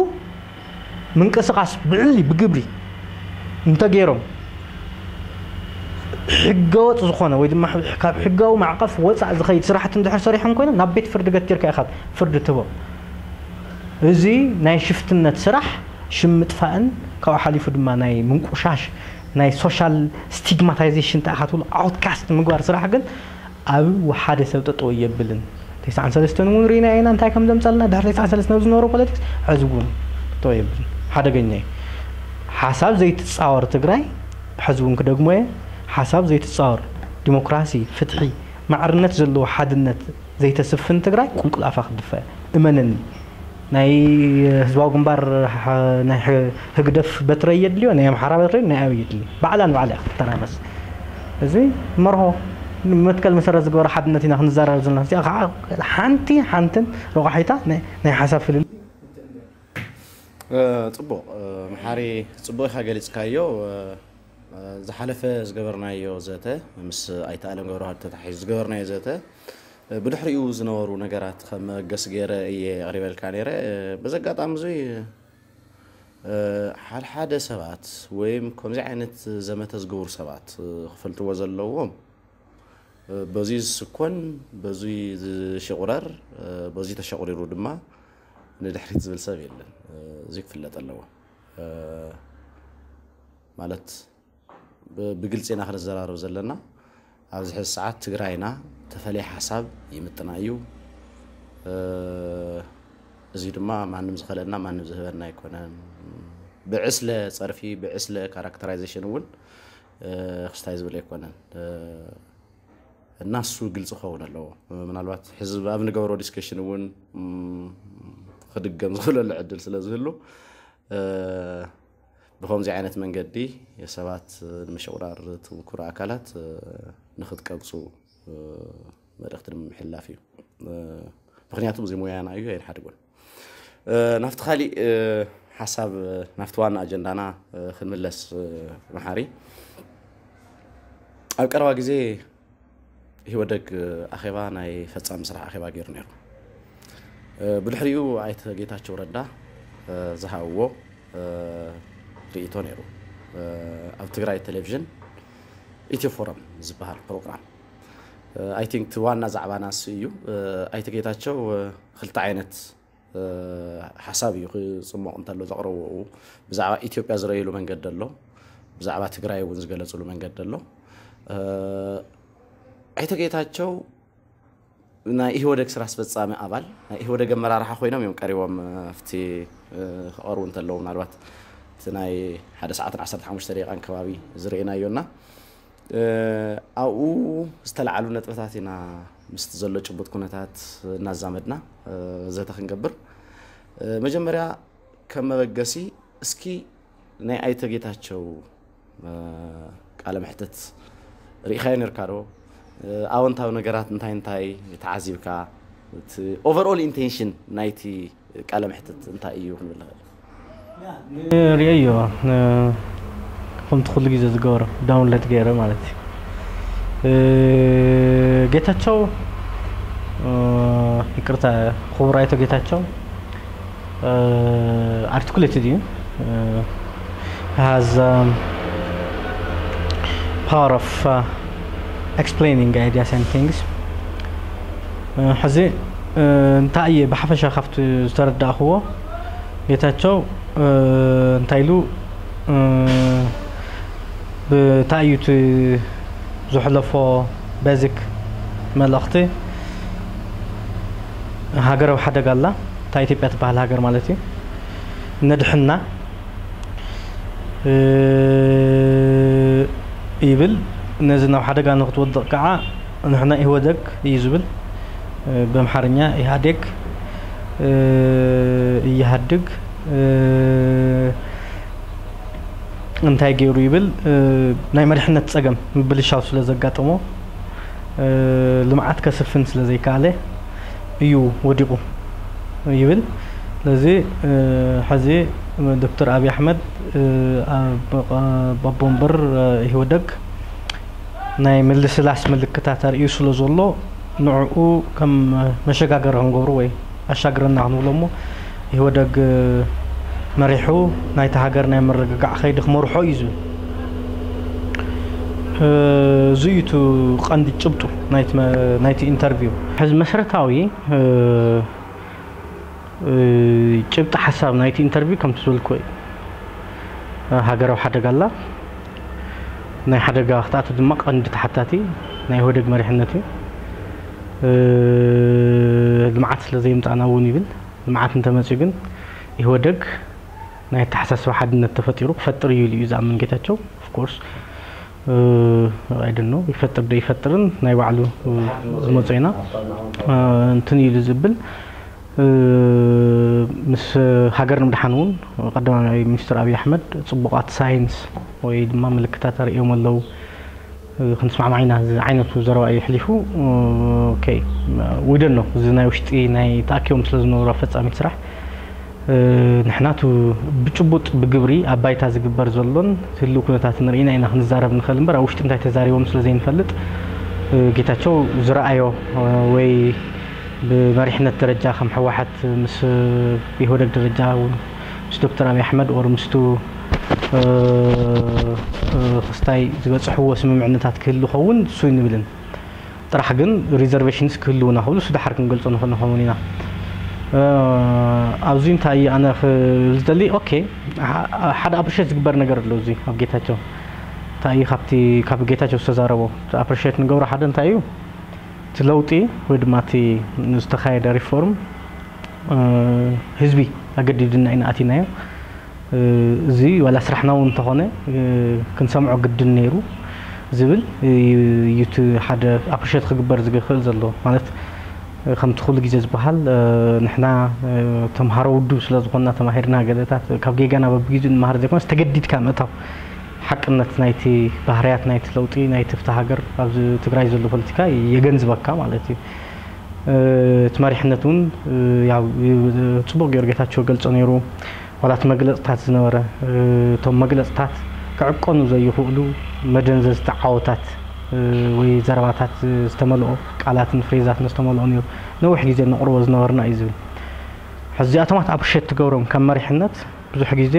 ምንቅስቃስ ብዕሊ ብግብሪ እንተገይሮም ሕገወጥ ዝኾነ ወይ ድማ ካብ ሕጋዊ ማዕቐፍ ወፃእ ዝኸይድ ስራሕቲ እንድሕር ሰሪሖም ኮይኖም ናብ ቤት ፍርዲ ገቲርካ ኢኻ ፍርዲ ትህቦም። እዚ ናይ ሽፍትነት ስራሕ ሽም ምጥፋእን ካብኡ ሓሊፉ ድማ ናይ ምንቁሻሽ ናይ ሶሻል ስቲግማታይዜሽን እንታይ ኢኻ ትብሎ ኣውትካስት ምግባር ስራሕ ግን ኣብ ሓደ ሰብ ጠጠው የብልን። ተስዓን ሰለስተን እውን ርኢና ኢና እንታይ ከም ዘምፀልና ድሕሪ ተስዓን ሰለስተን ዝነበሩ ፖለቲክስ ሕዚ እውን ጠጠው የብልን። ሓደገኛ እዩ። ሓሳብ ዘይትፃወር ትግራይ ሕዚ እውን ክደግሞ እየ። ሓሳብ ዘይትፃወር ዲሞክራሲ፣ ፍትሒ፣ ማዕርነት ዘለዎ ሓድነት ዘይተስፍን ትግራይ ቁልቁል ኣፋ ክትድፋ እያ። እመነኒ። ናይ ህዝባዊ ግንባር ናይ ህግደፍ በትረ የድልዮ ናይ ኣምሓራ በትረ ናይ ኣበይ የድልዮ ባዕላ ንባዕላ ክትተራመስ እዚ መርሆ መትከል መሰረት ዝገበረ ሓድነት ኢና ክንዘራረብ ዘለና እዚኣ ከዓ ሓንቲ ሓንትን ረቋሒታ ናይ ሓሳብ ፍልል ፅቡቕ መሓሪ ፅቡቕ ኢኻ ገሊፅካዮ ዝሓለፈ ዝገበርናዮ ዘተ ምስ ኣይተኣለም ገብረዋህድ ተታሒዙ ዝገበርናዮ ዘተ ብድሕሪኡ ዝነበሩ ነገራት ከም መበገሲ ገይረ እየ ኣቕሪበልካ ነይረ። በዚ ኣጋጣሚ እዙይ ሓደ ሓደ ሰባት ወይም ከምዚ ዓይነት ዘመተ ዝገብሩ ሰባት ክፈልጥዎ ዘለዎም በዙይ ዝስኮን በዙይ ዝሽቑረር በዙይ ተሸቑሪሩ ድማ ንድሕሪት ዝብል ሰብ የለን። እዙይ ክፍለጥ ኣለዎ ማለት ብግልፂ ኢና ክንዘራረብ ዘለና። ኣብዚ ሕዚ ሰዓት ትግራይና ተፈለየ ሓሳብ ይምጥና እዩ። እዚ ድማ ማንም ዝኸለና ማንም ዝህበና ኣይኮነን። ብዕስለ ፀርፊ ብዕስለ ካራክተራይዜሽን እውን ክስታይ ዝብል ኣይኮነን። እና እሱ ግልፂ ክኸውን ኣለዎ። ምናልባት ሕዚ ኣብ ንገብሮ ዲስከሽን እውን ክድገም ዝኽእለሉ ዕድል ስለ ዝህሉ ብከምዚ ዓይነት መንገዲ ሰባት ንምሽቑራር ትምኩሩ ኣካላት ንክትቀብፁ መልእክቲ ንምሕላፍ እዩ። ምክንያቱ እዚ ሙያና እዩ ኣይንሓድጎን። ናብቲ ካሊእ ሓሳብ ናብቲ ዋና ኣጀንዳና ክንምለስ መሓሪ ኣብ ቀረባ ግዜ ኢህወደግ ኣኼባ ናይ ፈጻሚ ስራሕ ኣኼባ ገይሩ ነይሩ። ብድሕሪኡ ኣይተ ጌታቸው ረዳ ዝሃብዎ ርእይቶ ነይሩ። ኣብ ትግራይ ቴሌቪዥን ኢትዮ ፎረም ዝበሃል ፕሮግራም፣ I think፣ ዋና ዛዕባና እሱ እዩ። ኣይተ ጌታቸው ክልተ ዓይነት ሓሳብ እዩ ክፅሞቕ እንተሎ ዘቕረብዎ። ብዛዕባ ኢትዮጵያ ዝረእይሉ መንገዲ ኣሎ፣ ብዛዕባ ትግራይ እውን ዝገለፅሉ መንገዲ ኣሎ። ኣይተ ጌታቸው ናይ ኢህወደግ ስራ ኣስፈፃሚ ኣባል፣ ናይ ኢህወደግ ኣመራርሓ ኮይኖም እዮም ቀሪቦም ኣብቲ ክቐርቡ እንተለዉ፣ ምናልባት እቲ ናይ ሓደ ሰዓትን ዓሰርተ ሓሙሽተ ደቂቃን ከባቢ ዝርኢናዮና ኣብኡ ዝተለዓሉ ነጥብታት ኢና ምስቲ ዘሎ ጭቡጥ ኩነታት እናዛመድና ዘተ ክንገብር። መጀመርያ ከም መበገሲ እስኪ ናይ ኣይተ ጌታቸው ቃለ መሕትት ርኢኻዮ ነርካ ዶ? ኣወንታዊ ነገራት እንታይ እንታይ ተዓዚብካ? እቲ overall intention ናይቲ ቃለ መሕትት እንታይ እዩ ክንብል ንኽእል? ንርእዮ ከምቲ ኩሉ ግዜ ዝገብሮ ዳውንሎድ ገይረ ማለት እዩ። ጌታቸው፣ ይቅርታ፣ ክቡር ኣይቶ ጌታቸው፣ ኣርቲኩሌትድ እዩ። Has power of explaining ideas and things. ሕዚ እንታይ እየ ብሓፈሻ ካብቲ ዝተረዳእክዎ፣ ጌታቸው እንታይ ኢሉ፣ ብታይ እዩ እቲ ዘሕለፎ ቤዚክ መልእኽቲ? ሃገራዊ ሓደጋ ኣላ፣ እታ ኢትዮጵያ ትበሃል ሃገር ማለት እዩ፣ ነድሕና ይብል። ነዚ ናብ ሓደጋ ንክትወድቕ ከዓ ንሕና ኢህወደግ እዩ ዝብል፣ ብኣምሓርኛ ኢህኣዴግ፣ እየሃድግ እንታይ ገይሩ ይብል? ናይ መሪሕነት ፀገም ምብልሻው ስለ ዘጋጠሞ፣ ልምዓት ከስፍን ስለ ዘይከኣለ እዩ ወዲቑ ይብል። ስለዚ ሕዚ ዶክተር ኣብይ ኣሕመድ ኣቦ ወንበር ኢህወደግ ናይ ምልስላስ ምልክታት ኣርእዩ ስለ ዘሎ፣ ንዕኡ ከም መሸጋገሪ ክንገብሮ ወይ ኣሻግረና ክንብሎ እሞ፣ ኢህወደግ መሪሑ ናይቲ ሃገር ናይ ምርግጋዕ ከይዲ ክመርሖ እዩ ዝብል። እዚ እዩ እቲ ቀንዲ ጭብጡ ናይቲ ኢንተርቪው። ሕዚ መሰረታዊ ጭብጢ ሓሳብ ናይቲ ኢንተርቪው ከምቲ ዝበልኩዎ እዩ። ሃገራዊ ሓደጋ ኣላ። ናይ ሓደጋ ክትኣቱ ድማ ቀንዲ ተሓታቲ ናይ ኢህወደግ መሪሕነት እዩ። ልምዓት ስለ ዘየምፃእና እውን ይብል። ልምዓት እንተመፅኡ ግን ኢህወደግ ናይ ኣተሓሳስባ ሓድነት ተፈጢሩ ክፈጥር እዩ ኢሉ እዩ ዝኣምን ጌታቸው። Of course፣ I don't know፣ ይፈጥር ዶ ይፈጥርን ናይ ባዕሉ ዝመፆ ኢና እንትን ኢሉ ዝብል። ምስ ሃገር ንምድሓን እውን ቀዳማይ ሚኒስትር ኣብይ ኣሕመድ ፅቡቓት ሳይንስ ወይ ድማ ምልክታት ኣርእዮም ኣለዉ። ክንስማዕማዕ ኢና ዝብል ዓይነቱ ዘረባ እዩ ኣሕሊፉ። Okay፣ we don't know፣ እዚ ናይ ውሽጢ ናይ ተኣኪቦም ስለ ዝነበሩ ኣፈፃሚት ስራሕ፣ ንሕና እቲ ብጭቡጥ ብግብሪ ኣብ ባይታ ዝግበር ዘሎን ህልው ኩነታትን ርኢና ኢና ክንዛረብ ንኽእል እምበር፣ ኣብ ውሽጢ እንታይ ተዛሪቦም ስለ ዘይንፈልጥ፣ ጌታቸው ዝረኣዮ ወይ ብመሪሕነት ደረጃ ከም ህወሓት ምስ ኢህወደግ ደረጃ እውን ምስ ዶክተር ኣብይ ኣሕመድ or ምስቱ ክስታይ ዝበፅሕዎ ስምምዕነታት ክህሉ ኸውን እሱ ኣይንብልን። ጥራሕ ግን ሪዘርቬሽንስ ክህልውና ክብሉ እሱ ደሓር ክንገልፆ ንኽእል ንኸውን ኢና። ኣብዚ እንታይ ኣነ ክብል ዝደሊ፣ okay፣ ሓደ ኣፕሪሼት ዝግበር ነገር ኣሎ። እዚ ኣብ ጌታቸው እንታይ እዩ ካብቲ ካብ ጌታቸው ዝተዛረቦ ኣፕሪሼት ንገብሮ ሓደ እንታይ እዩ፣ እቲ ለውጢ ወይ ድማ እቲ ዝተኻየደ ሪፎርም ህዝቢ ኣገዲድና ኢና ኣቲናዮ። እዚ ዋላ ስራሕና እውን እንተኾነ ክንሰምዖ ግድን ነይሩ ዝብል እዩ እቲ ሓደ ኣፕሪሼት ክግበር ዝኽእል ዘሎ። ማለት ከምቲ ኩሉ ግዜ ዝበሃል ንሕና ተምሃሮ ውድብ ስለ ዝኾንና ተማሂርና ገለታት ካብ ጌጋና በብግዜኡ ንመሃር ዘይኮነስ ተገዲድካ ምእታው ሓቅነት ናይቲ ባህርያት ናይቲ ለውጢ ናይቲ ፍትሒ ሃገር ኣብዚ ትግራይ ዘሎ ፖለቲካ የገንዝበካ ማለት እዩ። እቲ መሪሕነት እውን ያው ፅቡቕ ገይሩ ጌታቸው ገልጾ ነይሩ። ዋላ እቲ መግለፅታት ዝነበረ እቶም መግለፅታት ክዕቀኑ ዘይኽእሉ መደንዘዝቲ ዓወታት ወይ ዘረባታት ዝተመልኦ፣ ቃላትን ፍሬዛትን ዝተመልኦ ነይሩ። ነዊሕ ግዜ ነቕርቦ ዝነበርና እዩ ዝብል። ሕዚ እዚኣቶማት ኣፕሪሼት ትገብሮም ከም መሪሕነት ብዙሕ ግዜ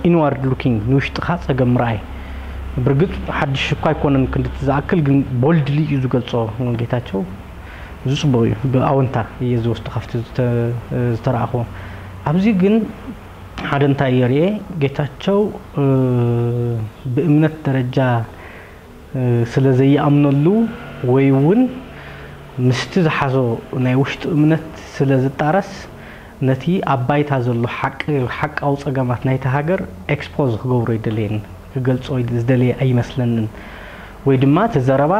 ኢንዋርድ ሉኪንግ፣ ንውሽጥኻ ጸገም ምርኣይ። ብርግጽ ሓድሽ እኳ ኣይኮነን ክንድቲ ዝኣክል፣ ግን ቦልድሊ እዩ ዝገልጾ ጌታቸው። እዚ ጽቡቕ እዩ። ብኣወንታ እየ ዝወስዶ ካብቲ ዝተ-፣ ዝተረኣኽዎ። ኣብዚ ግን ሓደ እንታይ እየ ርእየ፣ ጌታቸው ብእምነት ደረጃ ስለ ዘይኣምነሉ ወይ እውን ምስቲ ዝሓዞ ናይ ውሽጡ እምነት ስለ ዝጣረስ፣ ነቲ ኣብ ባይታ ዘሎ ሓቂ፣ ሓቃዊ ጸገማት ናይታ ሃገር ኤክስፖዝ ክገብሮ ኣይደለየን፣ ክገልጾ ዝደለየ ኣይመስለንን። ወይ ድማ እቲ ዘረባ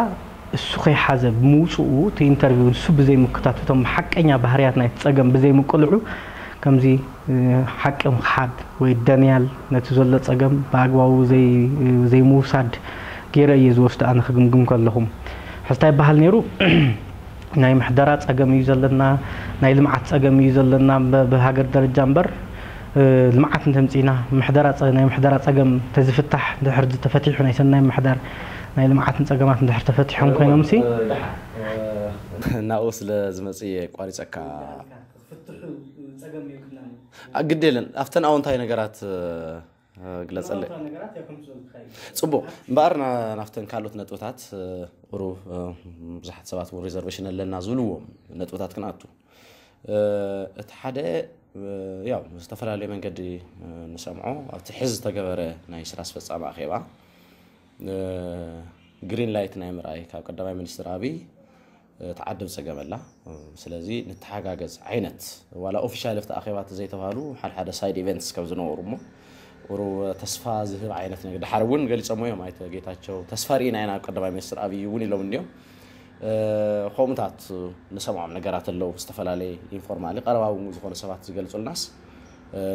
እሱ ከይሓዘ ብምውጽኡ፣ እቲ ኢንተርቪው ንሱ ብዘይምክታቱ፣ እቶም ሓቀኛ ባህርያት ናይቲ ጸገም ብዘይምቅልዑ፣ ከምዚ ሓቂ ምኽሓድ ወይ ደንያል፣ ነቲ ዘሎ ጸገም ብኣግባቡ ዘይ-፣ ዘይምውሳድ ገይረ እየ ዝወስዶ ኣነ ክግምግም ከለኹ። ሕዚ እንታይ ይበሃል ነይሩ? ናይ ምሕደራ ጸገም እዩ ዘለና፣ ናይ ልምዓት ጸገም እዩ ዘለና፣ ብ-፣ ብሃገር ደረጃ እምበር፣ ልምዓት እንተምጺእና፣ ምሕደራ ጸ-፣ ናይ ምሕደራ ጸገም ተዝፍታሕ፣ ድሕር ተፈቲሑ፣ ናይ ሰናይ ምሕዳር፣ ናይ ልምዓትን ጸገማት እንድሕር ተፈቲሖም ኮይኖም ሲ፣ ናብኡ ስለ ዝመጽእ እየ ቋሪጸካ። ዝፍትሑ ጸገም የብልናን እዩ። አ፣ ግድ የለን፣ ኣብተን ኣዎንታዊ ነገራት ግለጸለይ። ኣዎንታዊ ነገራት እያ ከምጽእ ዝኽእል። ጽቡቕ እምበኣር፣ ና-፣ ናብተን ካልኦት ነጥብታት፣ ቁሩብ ብዙሓት ሰባት እውን ሪዘርቬሽን ኣለና ዝብልዎም ነጥብታት ክንኣቱ። እቲ ሓደ፣ ያው ዝተፈላለየ መንገዲ ንሰምዖ፣ ኣብቲ ሕዚ ዝተገበረ ናይ ስራ ኣስፈጻሚ ኣኼባ ግሪን ላይት ናይ ምርኣይ ካብ ቀዳማይ ሚኒስትር ኣብይ ትዓድም ጸገም ኣላ። ስለዚ ንተሓጋገዝ ዓይነት፣ ዋላ ኦፊሻል ኣብቲ ኣኼባ ዘይተባህሉ ሓድሓደ ሳይድ ኢቨንትስ ከም ዝነበሩ እሞ፣ ቁሩብ ተስፋ ዝህብ ዓይነት ነገር። ድሓር እውን ገሊጾሞ እዮም ኣይተ ጌታቸው፣ ተስፋ ርኢና ኢና ኣብ ቀዳማይ ሚኒስትር ኣብይ እውን ኢሎም እንዲዮም። ከምኡታት ንሰምዖም ነገራት ኣለዉ፣ ዝተፈላለየ ኢንፎርማሊ ቀረባ እውን ዝኾኑ ሰባት ዝገልጹልናስ፣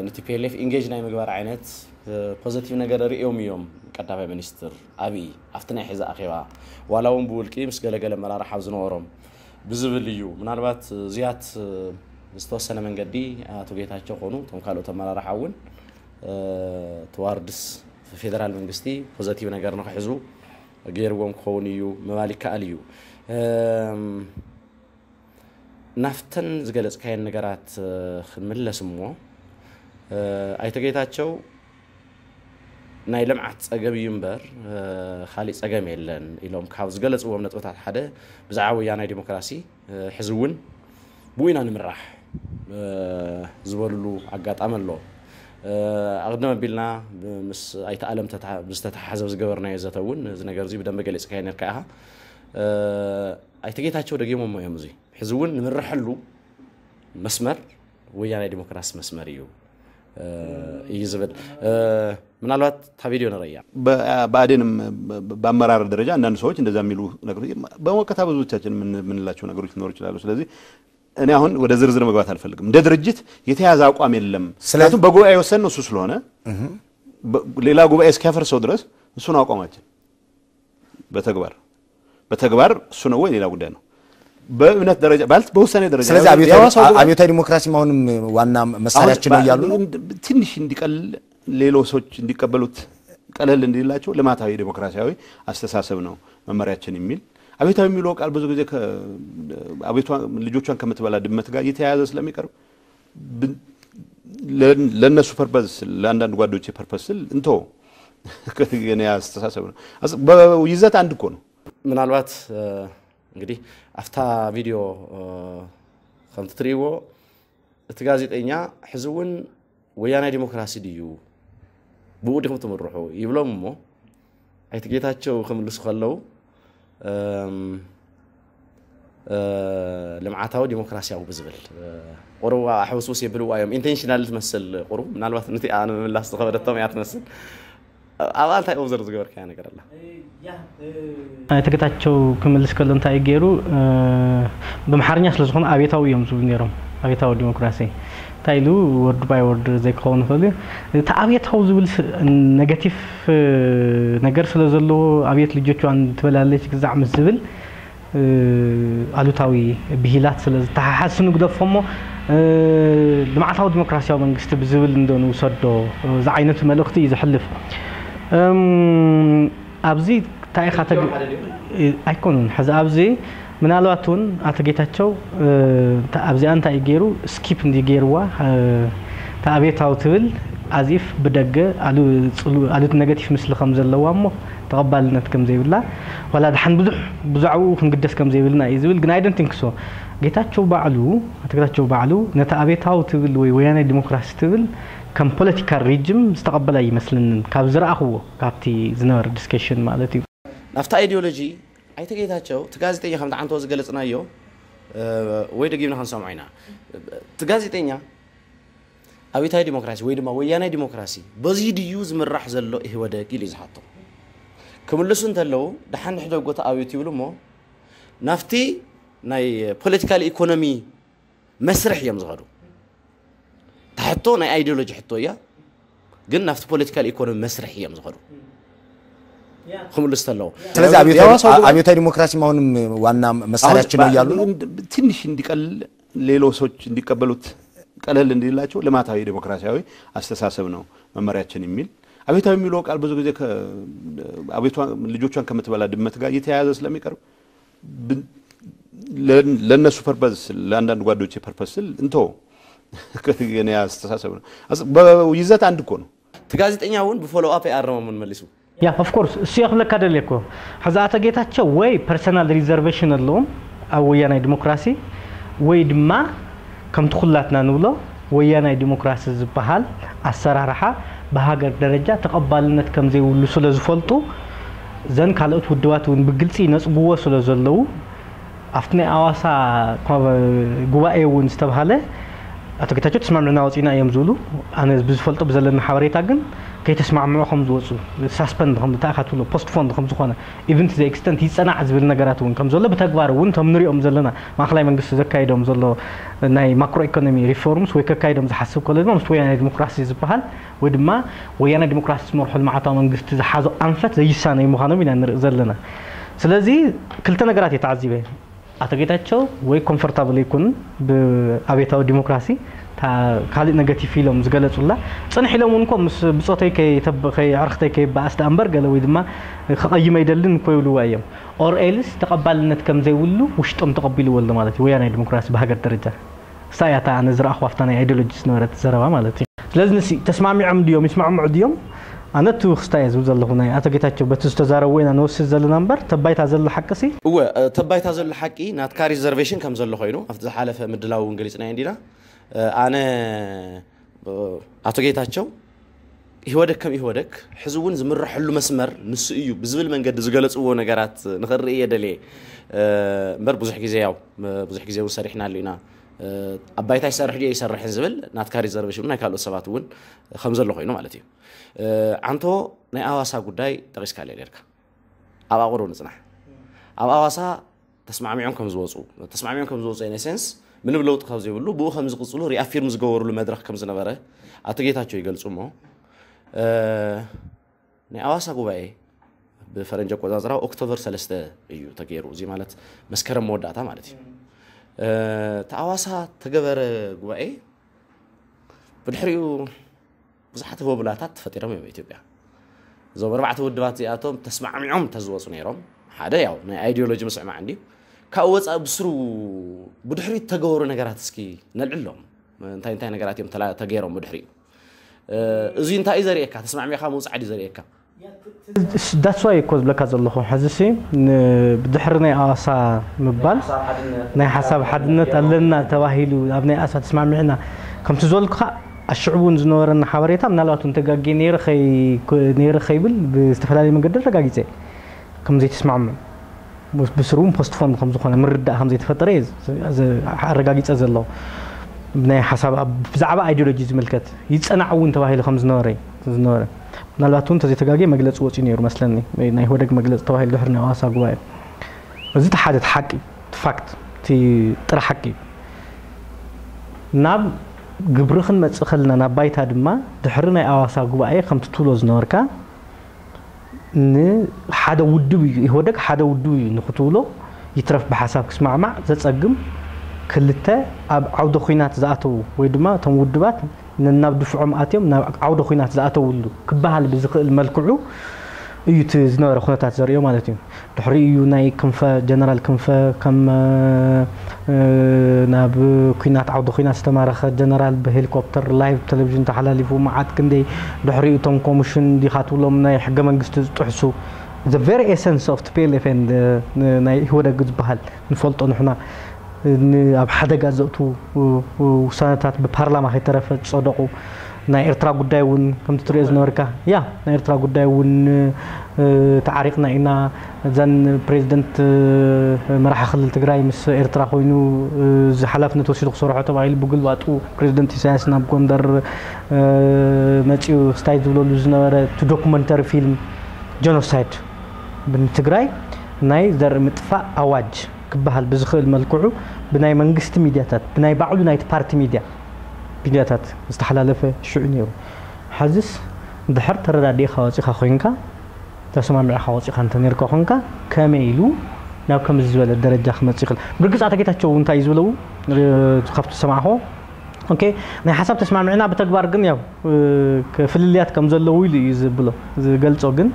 ን ቲ ፒ ኤል ኤፍ ኢንጌጅ ናይ ምግባር ዓይነት ፖዘቲቭ ነገር ርእዮም እዮም ቀዳማይ ሚኒስትር ኣብይ ኣብቲ ናይ ሕዚ ኣኼባ፣ ዋላ እውን ብውልቂ ምስ ገለገለ ኣመራርሓ ዝነበሮም ብዝብል እዩ። ምናልባት ዝያት ዝተወሰነ መንገዲ ኣቶ ጌታቸው ኾኑ እቶም ካልኦት ኣመራርሓ እውን ትዋርድስ ፌደራል መንግስቲ ፖዘቲቭ ነገር ንክሕዙ ገይርዎም ክኸውን እዩ ምባል ይከኣል እዩ። ናብተን ዝገለጽካየን ነገራት ክንምለስ እሞ፣ ኣይተ ጌታቸው ናይ ልምዓት ጸገም እዩ እምበር፣ ካሊእ ጸገም የለን ኢሎም ካብ ዝገለጽዎም ነጥብታት ሓደ ብዛዕባ ወያናይ ዲሞክራሲ፣ ሕዚ እውን ብኡ ኢና ንምራሕ ዝበልሉ ኣጋጣሚ ኣሎ። ኣቕድም ኣቢልና ምስ ኣይተ ኣለም ዝተተሓዘ ዝገበርናዮ ዘተ እውን እዚ ነገር እዚ ብደንበ ገሊጽካዮ ነርካ ኢኻ። ኣይተ ጌታቸው ደጊሞሞ እዮም። እዚ ሕዚ እውን ንምርሐሉ መስመር ወያናይ ዲሞክራሲ መስመር እዩ እዩ ዝብል። ምናልባት እታ ቪድዮ ንረያ። ብኣዴንም በኣመራር ደረጃ አንዳንድ ሰዎች እንደዛ የሚሉ ነገሮች በመወቀታ ብዙዎቻችን የምንላቸው ነገሮች ሊኖሩ ይችላሉ። ስለዚህ እኔ አሁን ወደ ዝርዝር መግባት አልፈልግም። እንደ ድርጅት የተያዘ አቋም የለም። ምክንያቱም በጉባኤ የወሰንነው እሱ ስለሆነ ሌላ ጉባኤ እስኪያፈርሰው ድረስ እሱ ነው አቋማችን። በተግባር በተግባር እሱ ነው ወይ ሌላ ጉዳይ ነው። በእምነት ደረጃ ማለት በውሳኔ ደረጃ ስለዚህ የሐዋሳው ጉባኤ አብዮታዊ ዲሞክራሲም አሁንም ዋና መሳሪያችን ነው እያሉ ነው። ትንሽ እንዲቀል ሌሎች ሰዎች እንዲቀበሉት ቀለል እንዲላቸው ልማታዊ ዲሞክራሲያዊ አስተሳሰብ ነው መመሪያችን የሚል አብዮታዊ የሚለው ቃል ብዙ ጊዜ ልጆቿን ከምትበላ ድመት ጋር እየተያያዘ ስለሚቀርብ ለእነሱ ፐርፐስ ለአንዳንድ ጓዶች ፐርፐስ ስል እንቶ የኔ አስተሳሰብ ነው። በይዘት አንድ እኮ ነው። ምናልባት እንግዲህ ኣብታ ቪድዮ ከምቲ ትርእይዎ እቲ ጋዜጠኛ ሕዚ እውን ወያናይ ዲሞክራሲ ድዩ ብኡ ዲኹም ትምርሑ ይብሎም እሞ ኣይተ ጌታቸው ክምልሱ ከለዉ ልምዓታዊ ዲሞክራሲያዊ ብዝብል ቁሩብ ኣሕውስውስ የብልዋ እዮም። ኢንቴንሽናል ትመስል ቁሩብ ምናልባት ነቲ ንምምላስ ዝኸበደቶም እያ ትመስል። ኣብኣ እንታይ ኦብዘርቭ ዝገበርካያ ነገር ኣላ? ኣይተ ጌታቸው ክምልስ ከሎ እንታይ እዩ ገይሩ? ብኣምሓርኛ ስለ ዝኾነ ኣብዮታዊ እዮም ዝብሉ ነይሮም። ኣብዮታዊ ዲሞክራሲ እንታይ ኢሉ ወርድ ባይ ወርድ ዘይክኸውን ይኽእል እዩ። እቲ ኣብዮታዊ ዝብል ኔጋቲቭ ነገር ስለ ዘለዎ ኣብዮት ልጆቿን ትበላለች ግዛዕ ምስ ዝብል ኣሉታዊ ብሂላት ስለ ዝተሓሓስ ንግደፎ እሞ ልምዓታዊ ዲሞክራሲያዊ መንግስቲ ብዝብል እንዶ ንውሰዶ ዝዓይነቱ መልእኽቲ እዩ ዘሕልፍ። ኣብዚ እንታይ ኢኻ ተግ- ኣይኮኑን። ሕዚ ኣብዚ ምናልባት እውን ኣቶ ጌታቸው ኣብዚኣ እንታይ እዩ ገይሩ፣ ስኪፕ እንዲ ገይርዋ፣ እታ ኣብዮታዊ ትብል ኣዚፍ ብደገ ኣሉት ነገቲፍ ምስሊ ከም ዘለዋ እሞ ተቐባልነት ከም ዘይብላ፣ ዋላ ድሓን ብዙሕ ብዛዕባኡ ክንግደስ ከም ዘይብልና እዩ ዝብል። ግን ኣይደንቲንክ ሶ ጌታቸው ባዕሉ፣ ኣቶ ጌታቸው ባዕሉ ነታ ኣብዮታዊ ትብል ወይ ወያናይ ዲሞክራሲ ትብል ከም ፖለቲካል ሪጅም ዝተቐበላ ይመስልንን፣ ካብ ዝረኣኽዎ፣ ካብቲ ዝነበረ ዲስከሽን ማለት እዩ። ናብቲ ኣይዲዮሎጂ ኣይተ ጌታቸው እቲ ጋዜጠኛ ከምቲ ዓንተዎ ዝገለፅናዮ ወይ ደጊምና ክንሰምዖ ኢና። እቲ ጋዜጠኛ ኣብዮታዊ ዲሞክራሲ ወይ ድማ ወያናይ ዲሞክራሲ በዚ ድዩ ዝምራሕ ዘሎ ኢህወደግ ኢሉ እዩ ዝሓቶ። ክምልሱ እንተለዉ ደሓን ንሕደጎ እቲ ኣብዮት ይብሉ እሞ ናብቲ ናይ ፖለቲካል ኢኮኖሚ መስርሕ እዮም ዝኸዱ። እታ ሕቶ ናይ ኣይዲዮሎጂ ሕቶ እያ፣ ግን ናብቲ ፖለቲካል ኢኮኖሚ መስርሕ እዮም ዝኸዱ ክምልስ ተለዉ። ስለዚህ አብዮታዊ ዲሞክራሲ አሁንም ዋና መሳሪያችን ነው እያሉ ነው። ትንሽ እንዲቀል ሌሎች ሰዎች እንዲቀበሉት ቀለል እንዲላቸው ልማታዊ ዲሞክራሲያዊ አስተሳሰብ ነው መመሪያችን የሚል አብዮታዊ የሚለው ቃል ብዙ ጊዜ ልጆቿን ከምትበላ ድመት ጋር እየተያያዘ ስለሚቀርብ ለእነሱ ፐርፐስ ለአንዳንድ ጓዶቼ ፐርፐስ ስል እንቶ የኔ አስተሳሰብ ነው። በይዘት አንድ እኮ ነው። እቲ ጋዜጠኛ እውን ብፎሎው ኣፕ ኣይኣረሞምን መሊሱ። ያ ኦፍ ኮርስ እሱ እየ ክብለካ ደልየ እኮ። ሕዚ ኣቶ ጌታቸው ወይ ፐርሰናል ሪዘርቬሽን ኣለዎም ኣብ ወያናይ ዲሞክራሲ ወይ ድማ ከምቲ ኩላትና ንብሎ ወያናይ ዲሞክራሲ ዝበሃል ኣሰራርሓ ብሃገር ደረጃ ተቐባልነት ከም ዘይብሉ ስለ ዝፈልጡ እዘን ካልኦት ውድባት እውን ብግልፂ ይነፅግዎ ስለ ዘለዉ ኣብቲ ናይ ኣዋሳ ጉባኤ እውን ዝተብሃለ ኣቶ ጌታቸው ተስማሚዕና ወፂና እዮም ዝብሉ። ኣነ ብዝፈልጦ ብዘለኒ ሓበሬታ ግን ከይተስማምዑ ከም ዝወፁ ሳስፐንድ ከም ተኣኻትሎ ፖስትፎንድ ከም ዝኾነ ኢቨንት ዘ ኤክስተንት ይፀናዕ ዝብል ነገራት እውን ከም ዘሎ ብተግባር እውን ከም ንሪኦም ዘለና ማእኸላይ መንግስቲ ዘካይዶም ዘሎ ናይ ማክሮ ኢኮኖሚ ሪፎርምስ ወይ ከካይዶም ዝሓስብ ከሎ ድማ ምስ ወያናይ ዲሞክራሲ ዝበሃል ወይ ድማ ወያናይ ዲሞክራሲ ዝመርሖ ልምዓታዊ መንግስቲ ዝሓዞ ኣንፈት ዘይሳነይ ምዃኖም ኢና ንርኢ ዘለና። ስለዚ ክልተ ነገራት እየ ተዓዚበ። ኣቶ ጌታቸው ወይ ኮምፎርታብል ኣይኮኑን ብኣብዮታዊ ዲሞክራሲ ካልእ ነገቲቭ ኢሎም ዝገለፁላ ፅንሕ ኢሎም እውን ምስ ብፆተይ ከይተብ- ከይ- ኣዕርኽተይ ከይበኣስ ደኣ እምበር ገለ ወይ ድማ ክቐይም ኣይደልን እኮ ይብልዋ እዮም ኦር ኤልስ ተቐባልነት ከም ዘይብሉ ውሽጦም ተቐቢልዎ ኣሎ ማለት እዩ ወያናይ ዲሞክራሲ ብሃገር ደረጃ እሳ እያ እታ ኣነ ዝረኣኹ ኣብታ ናይ ኣይዲዮሎጂ ዝነበረት ዘረባ ማለት እዩ ስለዚ ንሲ ተስማሚዖም ድዮም ይስማዕምዑ ድዮም ኣነ እቲ ክስታይ እየ ዝብል ዘለኹ ናይ ኣቶ ጌታቸው በቲ ዝተዛረብዎ ኢና ንወስድ ዘለና እምበር ተባይታ ዘሎ ሓቂ ሲ እወ ተባይታ ዘሎ ሓቂ ናትካ ሪዘርቬሽን ከም ዘሎ ኮይኑ ኣብቲ ዝሓለፈ ምድላው እውን ገሊፅናዮ እንዲና ኣነ ኣቶ ጌታቸው ኢህወደግ ከም ኢህወደግ ሕዚ እውን ዝምረሐሉ መስመር ንሱ እዩ ብዝብል መንገዲ ዝገለፅዎ ነገራት ንኽርኢ እየ ደልየ እምበር ብዙሕ ግዜ ያው ብዙሕ ግዜ እውን ሰሪሕናሉ ኢና ኣብ ባይታ ይሰርሕ ድዮ ይሰርሕን ዝብል ናትካ ሪዘርቬሽን ናይ ካልኦት ሰባት እውን ከም ዘሎ ኮይኑ ማለት እዩ ዓንቶ ናይ ኣዋሳ ጉዳይ ጠቂስካለ ኔርካ ኣብ ኣቁሩ ንፅናሕ ኣብ ኣዋሳ ተስማዕሚዖም ከም ዝወፁ ተስማዕሚዖም ከም ዝወፁ ኢነ ሴንስ ምንም ለውጢ ካብ ዘይብሉ ብኡ ከም ዝቅፅሉ ሪኣፊርም ዝገበሩሉ መድረክ ከም ዝነበረ ኣቶ ጌታቸው ይገልፁ እሞ ናይ ኣዋሳ ጉባኤ ብፈረንጂ ኣቆፃፅራ ኦክቶበር ሰለስተ እዩ ተገይሩ እዚ ማለት መስከረም መወዳእታ ማለት እዩ እቲ ኣዋሳ ተገበረ ጉባኤ ብድሕሪኡ ብዙሓት ህቦብላታት ተፈጢሮም እዮም ኢትዮጵያ እዞም ኣርባዕተ ውድባት እዚኣቶም ተስማዕሚዖም ተዝወፁ ነይሮም ሓደ ያው ናይ ኣይዲዮሎጂ ምስዕማዕ እንዲዩ ካብኡ ወፃኢ ብስሩ ብድሕሪኡ ተገበሩ ነገራት እስኪ ነልዕሎም እንታይ እንታይ ነገራት እዮም ተገይሮም ብድሕሪኡ እዚ እንታይ እዩ ዘርእየካ ተስማዕሚዕካ ምውፃዕ ድዩ ዘርእየካ ዳትስ ዋይ እኮ ዝብለካ ዘለኹ ሕዚ ሲ ብድሕሪ ናይ ኣዋሳ ምባል ናይ ሓሳብ ሓድነት ኣለና ተባሂሉ ኣብ ናይ ኣሳ ተስማሚዕና ከምቲ ዝበልኩኻ ኣሽዕቡ እውን ዝነበረና ሓበሬታ ምናልባት እውን ተጋጌ ነይረ ከይብል ብዝተፈላለየ መንገዲ ኣረጋጊፀ ከም ዘይተስማምዑ ብስሩ እውን ፖስትፎን ከም ዝኾነ ምርዳእ ከም ዘይተፈጠረ ኣረጋጊፀ ዘለኹ ናይ ሓሳብ ብዛዕባ ኣይዲዮሎጂ ዝምልከት ይፀናዕ እውን ተባሂሉ ከም ዝነበረ ዝነበረ ምናልባት እውን ተዘይተጋግየ መግለፂ ወፂኡ ነይሩ መስለኒ ናይ ኢህወደግ መግለፂ ተባሂሉ ድሕሪ ናይ ኣዋሳ ጉባኤ እዚ እቲ ሓደ እቲ ሓቂ እቲ ፋክት እቲ ጥረ ሓቂ እዩ ናብ ግብሪ ክንመፅእ ከለና ናብ ባይታ ድማ ድሕሪ ናይ ኣዋሳ ጉባኤ ከምቲ ትብሎ ዝነበርካ ንሓደ ውድብ እዩ ኢህወደግ ሓደ ውድብ እዩ ንክትብሎ ይትረፍ ብሓሳብ ክስማዕማዕ ዘፀግም ክልተ ኣብ ዓውደ ኹናት ዝኣተዉ ወይ ድማ እቶም ውድባት ነናብ ድፍዖም ኣትዮም ናብ ዓውደ ኹናት ዝኣተውሉ ክበሃል ብዝኽእል መልክዑ እዩ እቲ ዝነበረ ኩነታት ዘርእዮ ማለት እዩ። ድሕሪኡ እዩ ናይ ክንፈ፣ ጀነራል ክንፈ ከም ናብ ኩናት፣ ዓውዲ ኩናት ዝተማረኸ ጀነራል ብሄሊኮፕተር ላይቭ ቴሌቪዥን ተሓላሊፉ፣ መዓት ክንደይ። ድሕሪኡ እቶም ኮሚሽን ዲኻ ትብሎም ናይ ሕገ መንግስቲ ዝጥሕሱ፣ the very essence of T P L F and ናይ ኢህወደግ ዝበሃል ንፈልጦ ንሕና፣ ኣብ ሓደጋ ዘእትዉ ውሳነታት ብፓርላማ ከይተረፈ ዝጸደቑ፣ ናይ ኤርትራ ጉዳይ እውን ከምቲ ትሪኦ ዝነበርካ፣ ያ፣ ናይ ኤርትራ ጉዳይ እውን ተዓሪቕና ኢና። እዘን ፕሬዚደንት መራሒ ክልል ትግራይ ምስ ኤርትራ ኮይኑ እዚ ሓላፍነት ወሲዱ ክሰርሖ ተባሂሉ፣ ብግልባጡ ፕሬዚደንት ኢሳያስ ናብ ጎንደር መፂኡ ስታይ ዝብለሉ ዝነበረ እቲ ዶኩመንተሪ ፊልም ጀኖሳይድ፣ ንትግራይ ናይ ዘርኢ ምጥፋእ ኣዋጅ ክበሃል ብዝኽእል መልክዑ ብናይ መንግስቲ ሚድያታት፣ ብናይ ባዕሉ ናይቲ ፓርቲ ሚድያ፣ ሚድያታት ዝተሓላለፈ ሽዑ ነይሩ። ሐዝስ ድሕር ተረዳዲእኻ ወፂኻ ኮይንካ፣ ተሰማሚዕኻ ወፂኻ እንተነርካ ኮንካ፣ ከመይ ኢሉ ናብ ከምዚ ዝበለ ደረጃ ክመፅእ ይኽእል? ብርግፅ ኣቶ ጌታቸው እንታይ እዩ ዝብለው? ካብቲ ዝሰማዕኹ፣ ኦኬ፣ ናይ ሓሳብ ተስማሚዕና፣ ብተግባር ግን ያው ፍልልያት ከም ዘለዉ ኢሉ እዩ ዝብሎ፣ ዝገልጾ። ግን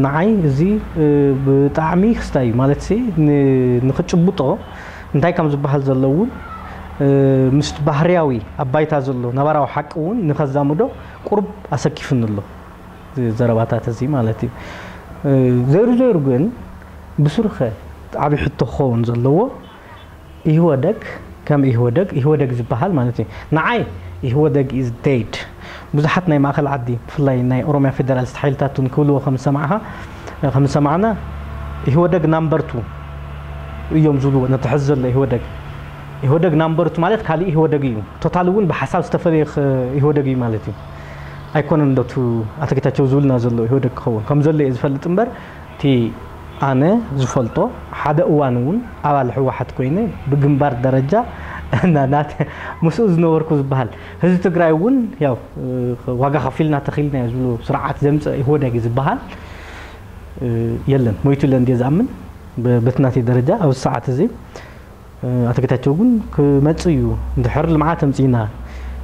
ንዓይ እዚ ብጣዕሚ ክስታይ እዩ ማለት ሲ፣ ንክጭብጦ እንታይ ከም ዝበሃል ዘሎ እውን ምስ ባህርያዊ ኣብ ባይታ ዘሎ ነባራዊ ሓቂ እውን ንኸዛምዶ ቁሩብ ኣሰኪፍኒ ኣሎ፣ ዘረባታት እዚ ማለት እዩ። ዘይሩ ዘይሩ ግን ብስሩኸ ዓብዪ ሕቶ ክኸውን ዘለዎ፣ ኢህወደግ ከም ኢህወደግ፣ ኢህወደግ ዝበሃል ማለት እዩ። ንዓይ ኢህወደግ is dead። ብዙሓት ናይ ማእኸል ዓዲ፣ ብፍላይ ናይ ኦሮሚያ ፌደራሊስት ሓይልታት እውን ክብልዎ ከም ዝሰማዕኻ፣ ከም ዝሰማዕና፣ ኢህወደግ ናምበር ቱ እዮም ዝብልዎ ነቲ ሕዚ ዘሎ ኢህወደግ። ኢህወደግ ናምበር ቱ ማለት ካልእ ኢህወደግ እዩ። ቶታል እውን ብሓሳብ ዝተፈለየ ኽ-፣ ኢህወደግ እዩ ማለት እዩ። ኣይኮነን ዶ እቲ ኣቶ ጌታቸው ዝብልና ዘሎ ኢህወደግ ክኸውን ከም ዘሎ እየ ዝፈልጥ እምበር፣ እቲ ኣነ ዝፈልጦ ሓደ እዋን እውን ኣባል ህወሓት ኮይነ ብግንባር ደረጃ እና ናተ-፣ ምስኡ ዝነበርኩ ዝበሃል ህዝቢ ትግራይ እውን ያው ዋጋ ከፊልና ተኺልና እዩ ዝብሉ ስርዓት ዘምፀ ኢህወደግ ዝበሃል የለን። ሞይቱ ኢለ እንድየ ዝኣምን። ብ-፣ በቲ ናተይ ደረጃ ኣብዚ ሰዓት እዚ ኣቶ ጌታቸው ግን ክመጽእ እዩ። እንድሕር ልምዓት ኣምጺእና፣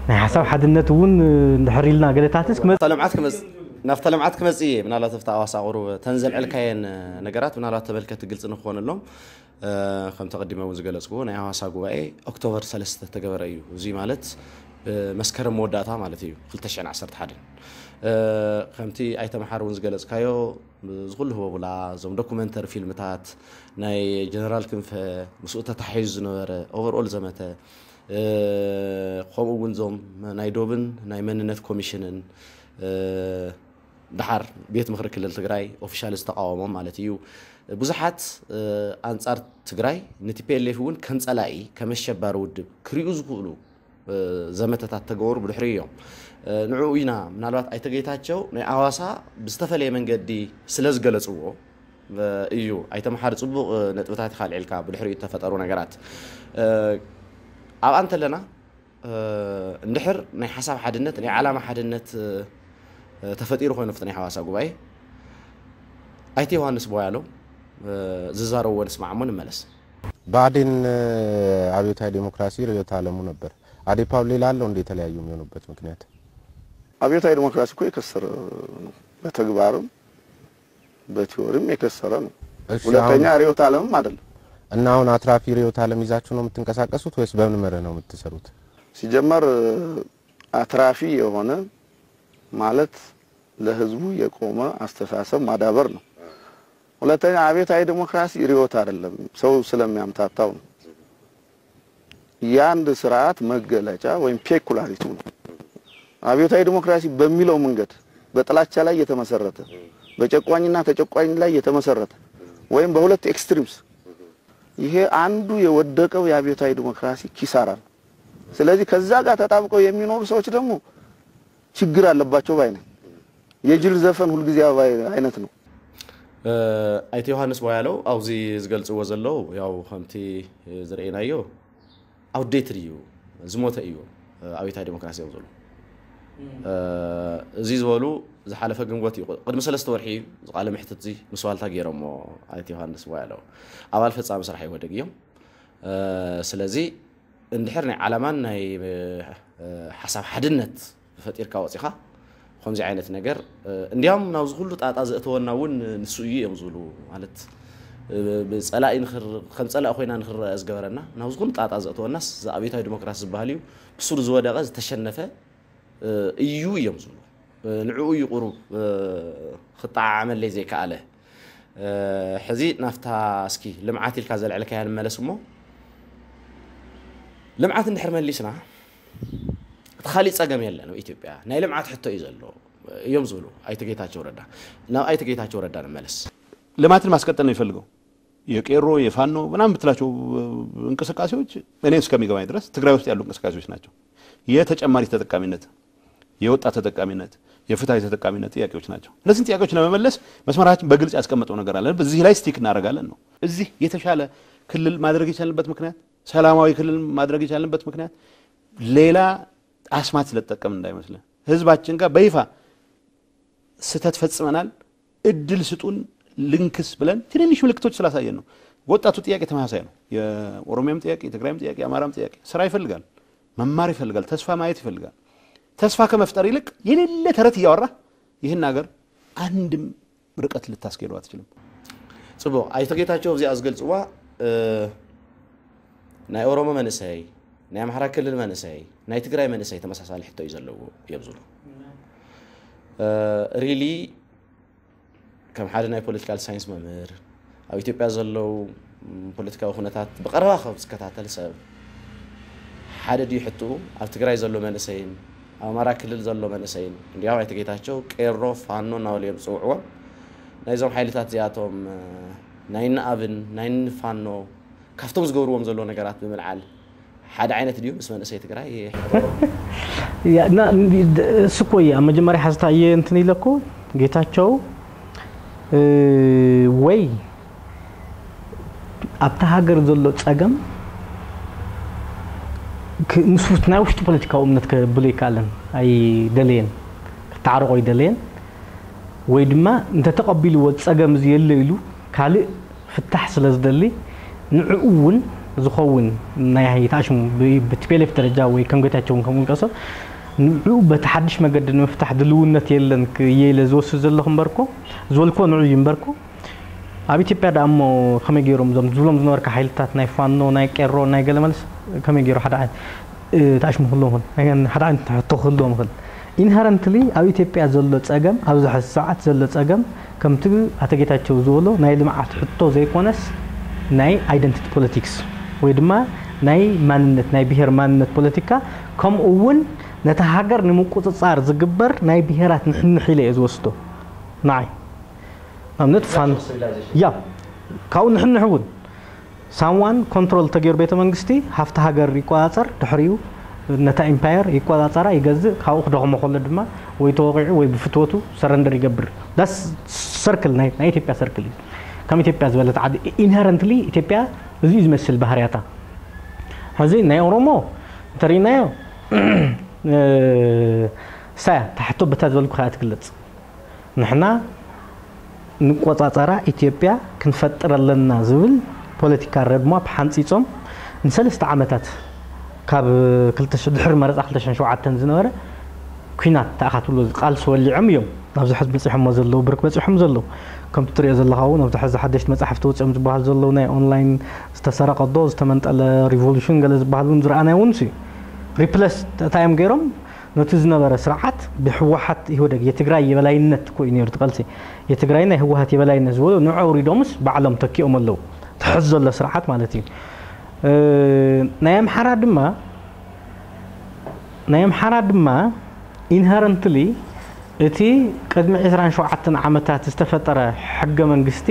ናይ ሓሳብ ሓድነት እውን እንድሕር ኢልና ገለታትስ ክመጽእ ናብታ ልምዓት ክመጽ-፣ ናብታ ልምዓት ክመጽእ እየ። ምናልባት ኣብታ ኣዋሳ ቁሩብ ተን ዘልዐልካየን ነገራት ምናልባት ተመልከቲ ግልጺ ንክኾነሎም፣ እ፣ ከምቲ ቀዲመ እውን ዝገለጽኩዎ ናይ ኣዋሳ ጉባኤ ኦክቶበር ሰለስተ ተገበረ እዩ። እዚ ማለት ብመስከረም መወዳእታ ማለት እዩ፣ ክልተ ሽሕን ዓሰርተ ሓደን። እ፣ ከምቲ ኣይተ መሓሪ እውን ዝገለጽካዮ፣ እዚ ኩሉ ህቦብላ፣ እዞም ዶኩመንተሪ ፊልምታት፣ ናይ ጀነራል ክንፈ፣ ምስኡ ተታሒዙ ዝነበረ ኦቨርኦል ዘመተ፣ እ፣ ከምኡ እውን እዞም ናይ ዶብን ናይ መንነት ኮሚሽንን፣ እ፣ ደሓር ቤት ምኽሪ ክልል ትግራይ ኦፊሻል ዝተቃወሞም ማለት እዩ። ብዙሓት፣ እ፣ ኣንጻር ትግራይ ን T P L F እውን ከም ጸላኢ፣ ከም ኣሸባሪ ውድብ ክሪኡ ዝኽእሉ ዘመተታት ተገበሩ ብድሕሪኡ እዮም። ንዕኡ ኢና ምናልባት ኣይተ ጌታቸው ናይ ኣዋሳ ብዝተፈለየ መንገዲ ስለ ዝገለጽዎ እዩ። ኣይተ መሓሪ ጽቡቕ ነጥብታት ኢኻ ኣልዒልካ ብድሕሪኡ እተፈጠሩ ነገራት። ኣብኣ እንተለና እንድሕር ናይ ሓሳብ ሓድነት ናይ ዓላማ ሓድነት ተፈጢሩ ኮይኑ ኣብቲ ናይ ሓዋሳ ጉባኤ ኣይተ ዮሃንስ ቦያሎ ዝዛረብዎ ንስማዕ እሞ ንመለስ። ብኣዴን ኣብዮታዊ ዴሞክራሲ ርዕዮተ ዓለሙ ነበር። አዴፓ ሌላ አለው እንደ የተለያዩ የሚሆኑበት ምክንያት? አብዮታዊ ዴሞክራሲ እኮ የከሰረ ነው። በተግባርም በቲዎሪም የከሰረ ነው። እሺ፣ ሁለተኛ አሁን ርዕዮተ ዓለምም አይደለም። እና አሁን አትራፊ ርዕዮተ ዓለም ይዛችሁ ነው የምትንቀሳቀሱት ወይስ በምን መርህ ነው የምትሰሩት? ሲጀመር አትራፊ የሆነ ማለት ለህዝቡ የቆመ አስተሳሰብ ማዳበር ነው። ሁለተኛ አብዮታዊ ዴሞክራሲ ርዕዮት አይደለም፣ ሰው ስለሚያምታታው ነው። የአንድ ስርዓት መገለጫ ወይም ፔኩላሪቲው ነው። አብዮታዊ ዴሞክራሲ በሚለው መንገድ በጥላቻ ላይ የተመሰረተ፣ በጨቋኝና ተጨቋኝ ላይ የተመሰረተ ወይም በሁለት ኤክስትሪምስ፣ ይሄ አንዱ የወደቀው የአብዮታዊ ዴሞክራሲ ኪሳራ ነው። ስለዚህ ከዛ ጋር ተጣብቀው የሚኖሩ ሰዎች ደግሞ ችግር አለባቸው ባይ ነኝ። የጅል ዘፈን ሁልጊዜ አበባ አይነት ነው። ኣይተ ዮሃንስ ቦያለው ኣብዚ ዝገልጽዎ ዘለዉ ያው ከምቲ ዝረኤናዮ ኣውትዴትድ እዩ፣ ዝሞተ እዩ ኣብዮታዊ ዴሞክራሲ እዮም ዝብሉ። እዚ ዝበሉ ዝሓለፈ ግንቦት እዩ፣ ቅድሚ ሰለስተ ወርሒ እዩ እዚ ቃለ መሕትት እዚ ምስ ዋልታ ገይሮሞ ኣይተ ዮሃንስ ቦያለው ኣባል ፈጻሚ ስራሕ ኢህወደግ እዮም። ስለዚ እንድሕር ናይ ዓላማን ናይ ሓሳብ ሓድነት ፈጢርካ ወፂኻ ከምዚ ዓይነት ነገር እንዲያም ናብዚ ኩሉ ጣጣ ዘእተወና እውን ንሱ እዩ እዮም ዝብሉ። ማለት ብፀላኢ ከም ፀላኢ ኮይና ንክረአ ዝገበረና ናብዚ ኩሉ ጣጣ ዘእተወናስ እዚ ኣብዮታዊ ዲሞክራሲ ዝበሃል እዩ ብሱር ዝወደቐ ዝተሸነፈ እዩ እዮም ዝብሉ። ንዕኡ እዩ ቁሩብ ክጠዓዓመለይ ዘይከኣለ። ሕዚ ናፍታ እስኪ ልምዓት ኢልካ ዘልዕልካያ ንመለስ እሞ ልምዓት እንድሕር መሊስና እቲ ካሊእ ፀገም የለን ኣብ ኢትዮጵያ ናይ ልምዓት ሕቶ እዩ ዘሎ እዮም ዝብሉ ኣይተ ጌታቸው ረዳ። ናብ ኣይተ ጌታቸው ረዳ ንመለስ። ልማትን ማስቀጠል ነው የሚፈልገው። የቄሮ የፋኖ ምናምን የምትላቸው እንቅስቃሴዎች እኔ እስከሚገባኝ ድረስ ትግራይ ውስጥ ያሉ እንቅስቃሴዎች ናቸው። የተጨማሪ ተጠቃሚነት፣ የወጣት ተጠቃሚነት፣ የፍትሐዊ ተጠቃሚነት ጥያቄዎች ናቸው። እነዚህን ጥያቄዎች ለመመለስ መስመራችን በግልጽ ያስቀመጠው ነገር አለ። እዚህ ላይ ስቲክ እናደርጋለን ነው። እዚህ የተሻለ ክልል ማድረግ የቻልንበት ምክንያት፣ ሰላማዊ ክልል ማድረግ የቻልንበት ምክንያት ሌላ አስማት ስለተጠቀምን እንዳይመስልህ፣ ህዝባችን ጋር በይፋ ስህተት ፈጽመናል፣ እድል ስጡን ልንክስ ብለን ትንንሽ ምልክቶች ስላሳየን ነው። ወጣቱ ጥያቄ ተመሳሳይ ነው። የኦሮሚያም ጥያቄ፣ የትግራይም ጥያቄ፣ የአማራም ጥያቄ ስራ ይፈልጋል፣ መማር ይፈልጋል፣ ተስፋ ማየት ይፈልጋል። ተስፋ ከመፍጠር ይልቅ የሌለ ተረት እያወራ ይህን ሀገር አንድም ርቀት ልታስኬደው አትችልም። ፅቡቅ ኣይተ ጌታቸው እዚኣ ዝገልፅዋ ናይ ኦሮሞ መንእሰይ፣ ናይ ኣምሓራ ክልል መንእሰይ፣ ናይ ትግራይ መንእሰይ ተመሳሳሊ ሕቶ እዩ ዘለዎ እዮም ዝብሉ። ሪሊ ከም ሓደ ናይ ፖለቲካል ሳይንስ መምህር ኣብ ኢትዮጵያ ዘለዉ ፖለቲካዊ ኩነታት ብቀረባ ካብ ዝከታተል ሰብ ሓደ ድዩ ሕትኡ ኣብ ትግራይ ዘሎ መንእሰይን ኣብ ኣማራ ክልል ዘሎ መንእሰይን እንዲያው ኣይተ ጌታቸው ቄሮ ፋኖ እናበሉ እዮም ዝፅውዕዎም። ናይዞም ሓይልታት እዚኣቶም ናይ ንኣብን ናይ ንፋኖ ካብቶም ዝገብርዎም ዘሎ ነገራት ብምልዓል ሓደ ዓይነት ድዩ ምስ መንእሰይ ትግራይ? እሱ እኮ እዩ ኣብ መጀመርያ ሓዝታ እየ እንትን ኢለኩ ጌታቸው ወይ ኣብቲ ሃገር ዘሎ ፀገም ምስ ናይ ውሽጢ ፖለቲካዊ እምነት ከብሎ ይከኣለን ኣይደለየን ክተዓርቆ ይደለየን ወይ ድማ እንተተቐቢልዎ ፀገም እዚ የለ ኢሉ ካልእ ፍታሕ ስለ ዝደሊ ንዕኡ እውን ዝኸውን ናይ ታሽሙ ብቲፔሌፍ ደረጃ ወይ ከም ጌታቸው እውን ከም ውልቀ ሰብ ንዕኡ በቲ ሓድሽ መገዲ ንምፍታሕ ድልውነት የለን እየ ኢለ ዝወስድ ዘለኹ እምበርኮ ዝበልክዎ ንዑ እዩ እምበርኮ ኣብ ኢትዮጵያ ደኣ እሞ ከመይ ገይሮም እዞም ዝብሎም ዝነበርካ ሓይልታት ናይ ፋኖ ናይ ቄሮ ናይ ገለመለስ ከመይ ገይሩ ሓደ ዓይነት ታሽሙ ክህልዎም ይኽእል ሓደ ዓይነት ሕቶ ክህልዎም ይኽእል ኢንሄረንትሊ ኣብ ኢትዮጵያ ዘሎ ፀገም ኣብዚ ሕዚ ሰዓት ዘሎ ፀገም ከምቲ ኣቶ ጌታቸው ዝበሎ ናይ ልምዓት ሕቶ ዘይኮነስ ናይ ኣይደንቲቲ ፖለቲክስ ወይ ድማ ናይ ማንነት ናይ ብሄር ማንነት ፖለቲካ ከምኡ እውን ነታ ሃገር ንምቁፅፃር ዝግበር ናይ ብሄራት ንሕንሕ ኢለ እየ ዝወስዶ ንዓይ ኣብነት ፋን ያ ካብኡ ንሕንሕ እውን ሳምዋን ኮንትሮል ተገይሩ ቤተ መንግስቲ ሃፍቲ ሃገር ይቆፃፀር ድሕሪኡ ነታ ኢምፓየር ይቆፃፀራ ይገዝእ ካብኡ ክደኽሞ ከሎ ድማ ወይ ተወቂዑ ወይ ብፍትወቱ ሰረንደር ይገብር ዳስ ሰርክል ናይ ኢትዮጵያ ሰርክል እዩ ከም ኢትዮጵያ ዝበለት ዓዲ ኢንሄረንትሊ ኢትዮጵያ እዚ ዝመስል ባህርያታ ሕዚ ናይ ኦሮሞ እንተሪእናዮ ሳያ ታሕቶ ብታ ዝበልኩ ከኣ ትግለጽ ንሕና ንቆጻጸራ ኢትዮጵያ ክንፈጥር ኣለና ዝብል ፖለቲካ ረድማፕ ሓንጺጾም ንሰለስተ ዓመታት ካብ ድሕሪ መረፃ ክልተ ሽሕን ሸውዓተን ዝነበረ ኲናት ተኣኻትብሎ ቃልሲ ወሊዖም እዮም ናብዚ ሕዚ በፂሖሞ ዘለዉ ብርክ በፂሖም ዘለዉ ከምቲ ትሪኦ ዘለኻ እውን ኣብዚ ሕዚ ሓደሽቲ መፅሓፍቲ ወፂኦም ዝበሃሉ ዘለዉ ናይ ኦንላይን ዝተሰረቐ ዶ ዝተመንጠለ ሪቮሉሽን ገለ ዝበሃል እውን ዝረኣናዮ እውን እዩ ሪፕለስ እንታይ እዮም ገይሮም ነቲ ዝነበረ ስርዓት ብህወሓት ኢህወደግ የትግራይ የበላይነት እኮ እዩ ነይሩ እቲ ቃልሲ የትግራይ ናይ ህወሓት የበላይነት ዝበሉ ንዑ ኣውሪዶምስ ባዕሎም ተኪኦም ኣለዉ እቲ ሕዚ ዘሎ ስርዓት ማለት እዩ ናይ ኣምሓራ ድማ ናይ ኣምሓራ ድማ ኢንሄረንትሊ እቲ ቅድሚ ዕስራን ሸውዓተን ዓመታት ዝተፈጠረ ሕገ መንግስቲ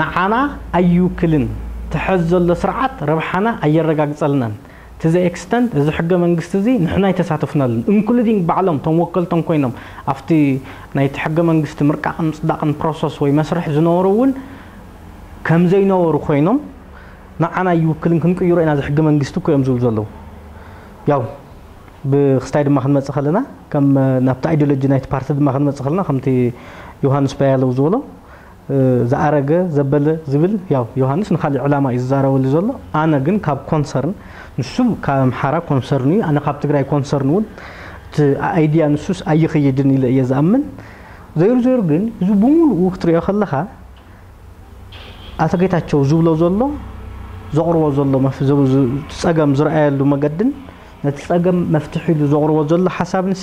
ንዓና ኣይውክልን እቲ ሕዚ ዘሎ ስርዓት ረብሓና ኣየረጋግፀልናን to the extent እዚ ሕገ መንግስቲ እዚ ንሕና ኣይተሳተፍናሉን including ባዕሎም ቶም ወከልቶም ኮይኖም ኣብቲ ናይቲ ሕገ መንግስቲ ምርቃቕን ምፅዳቕን process ወይ መስርሕ ዝነበሩ እውን ከም ዘይነበሩ ኮይኖም ንዓና ኣይውክልን ክንቅይሮ ኢና እዚ ሕገ መንግስቲ እኮ እዮም ዝብሉ ዘለዉ ያው ብክስታይ ድማ ክንመፅእ ከለና ከም ናብቲ ideology ናይቲ ፓርቲ ድማ ክንመፅእ ከለና ከምቲ ዮሃንስ ፓያለው ዝበሎ ዝኣረገ ዘበለ ዝብል ያው ዮሃንስ ንካሊእ ዕላማ እዩ ዝዛረበሉ ዘሎ ኣነ ግን ካብ ኮንሰርን ንሱ ካብ ኣምሓራ ኮንሰርን እዩ ኣነ ካብ ትግራይ ኮንሰርን እውን እቲ ኣይድያ ንሱስ ኣይኽይድን ኢለ እየ ዝኣምን። ዘይሩ ዘይሩ ግን እዚ ብምሉኡ ክትሪኦ ከለኻ ኣቶ ጌታቸው ዝብሎ ዘሎ፣ ዘቕርቦ ዘሎ መፍ- ዝ- ዝ- ጸገም ዝረኣየሉ መገድን ነቲ ጸገም መፍትሒ ኢሉ ዘቕርቦ ዘሎ ሓሳብንሲ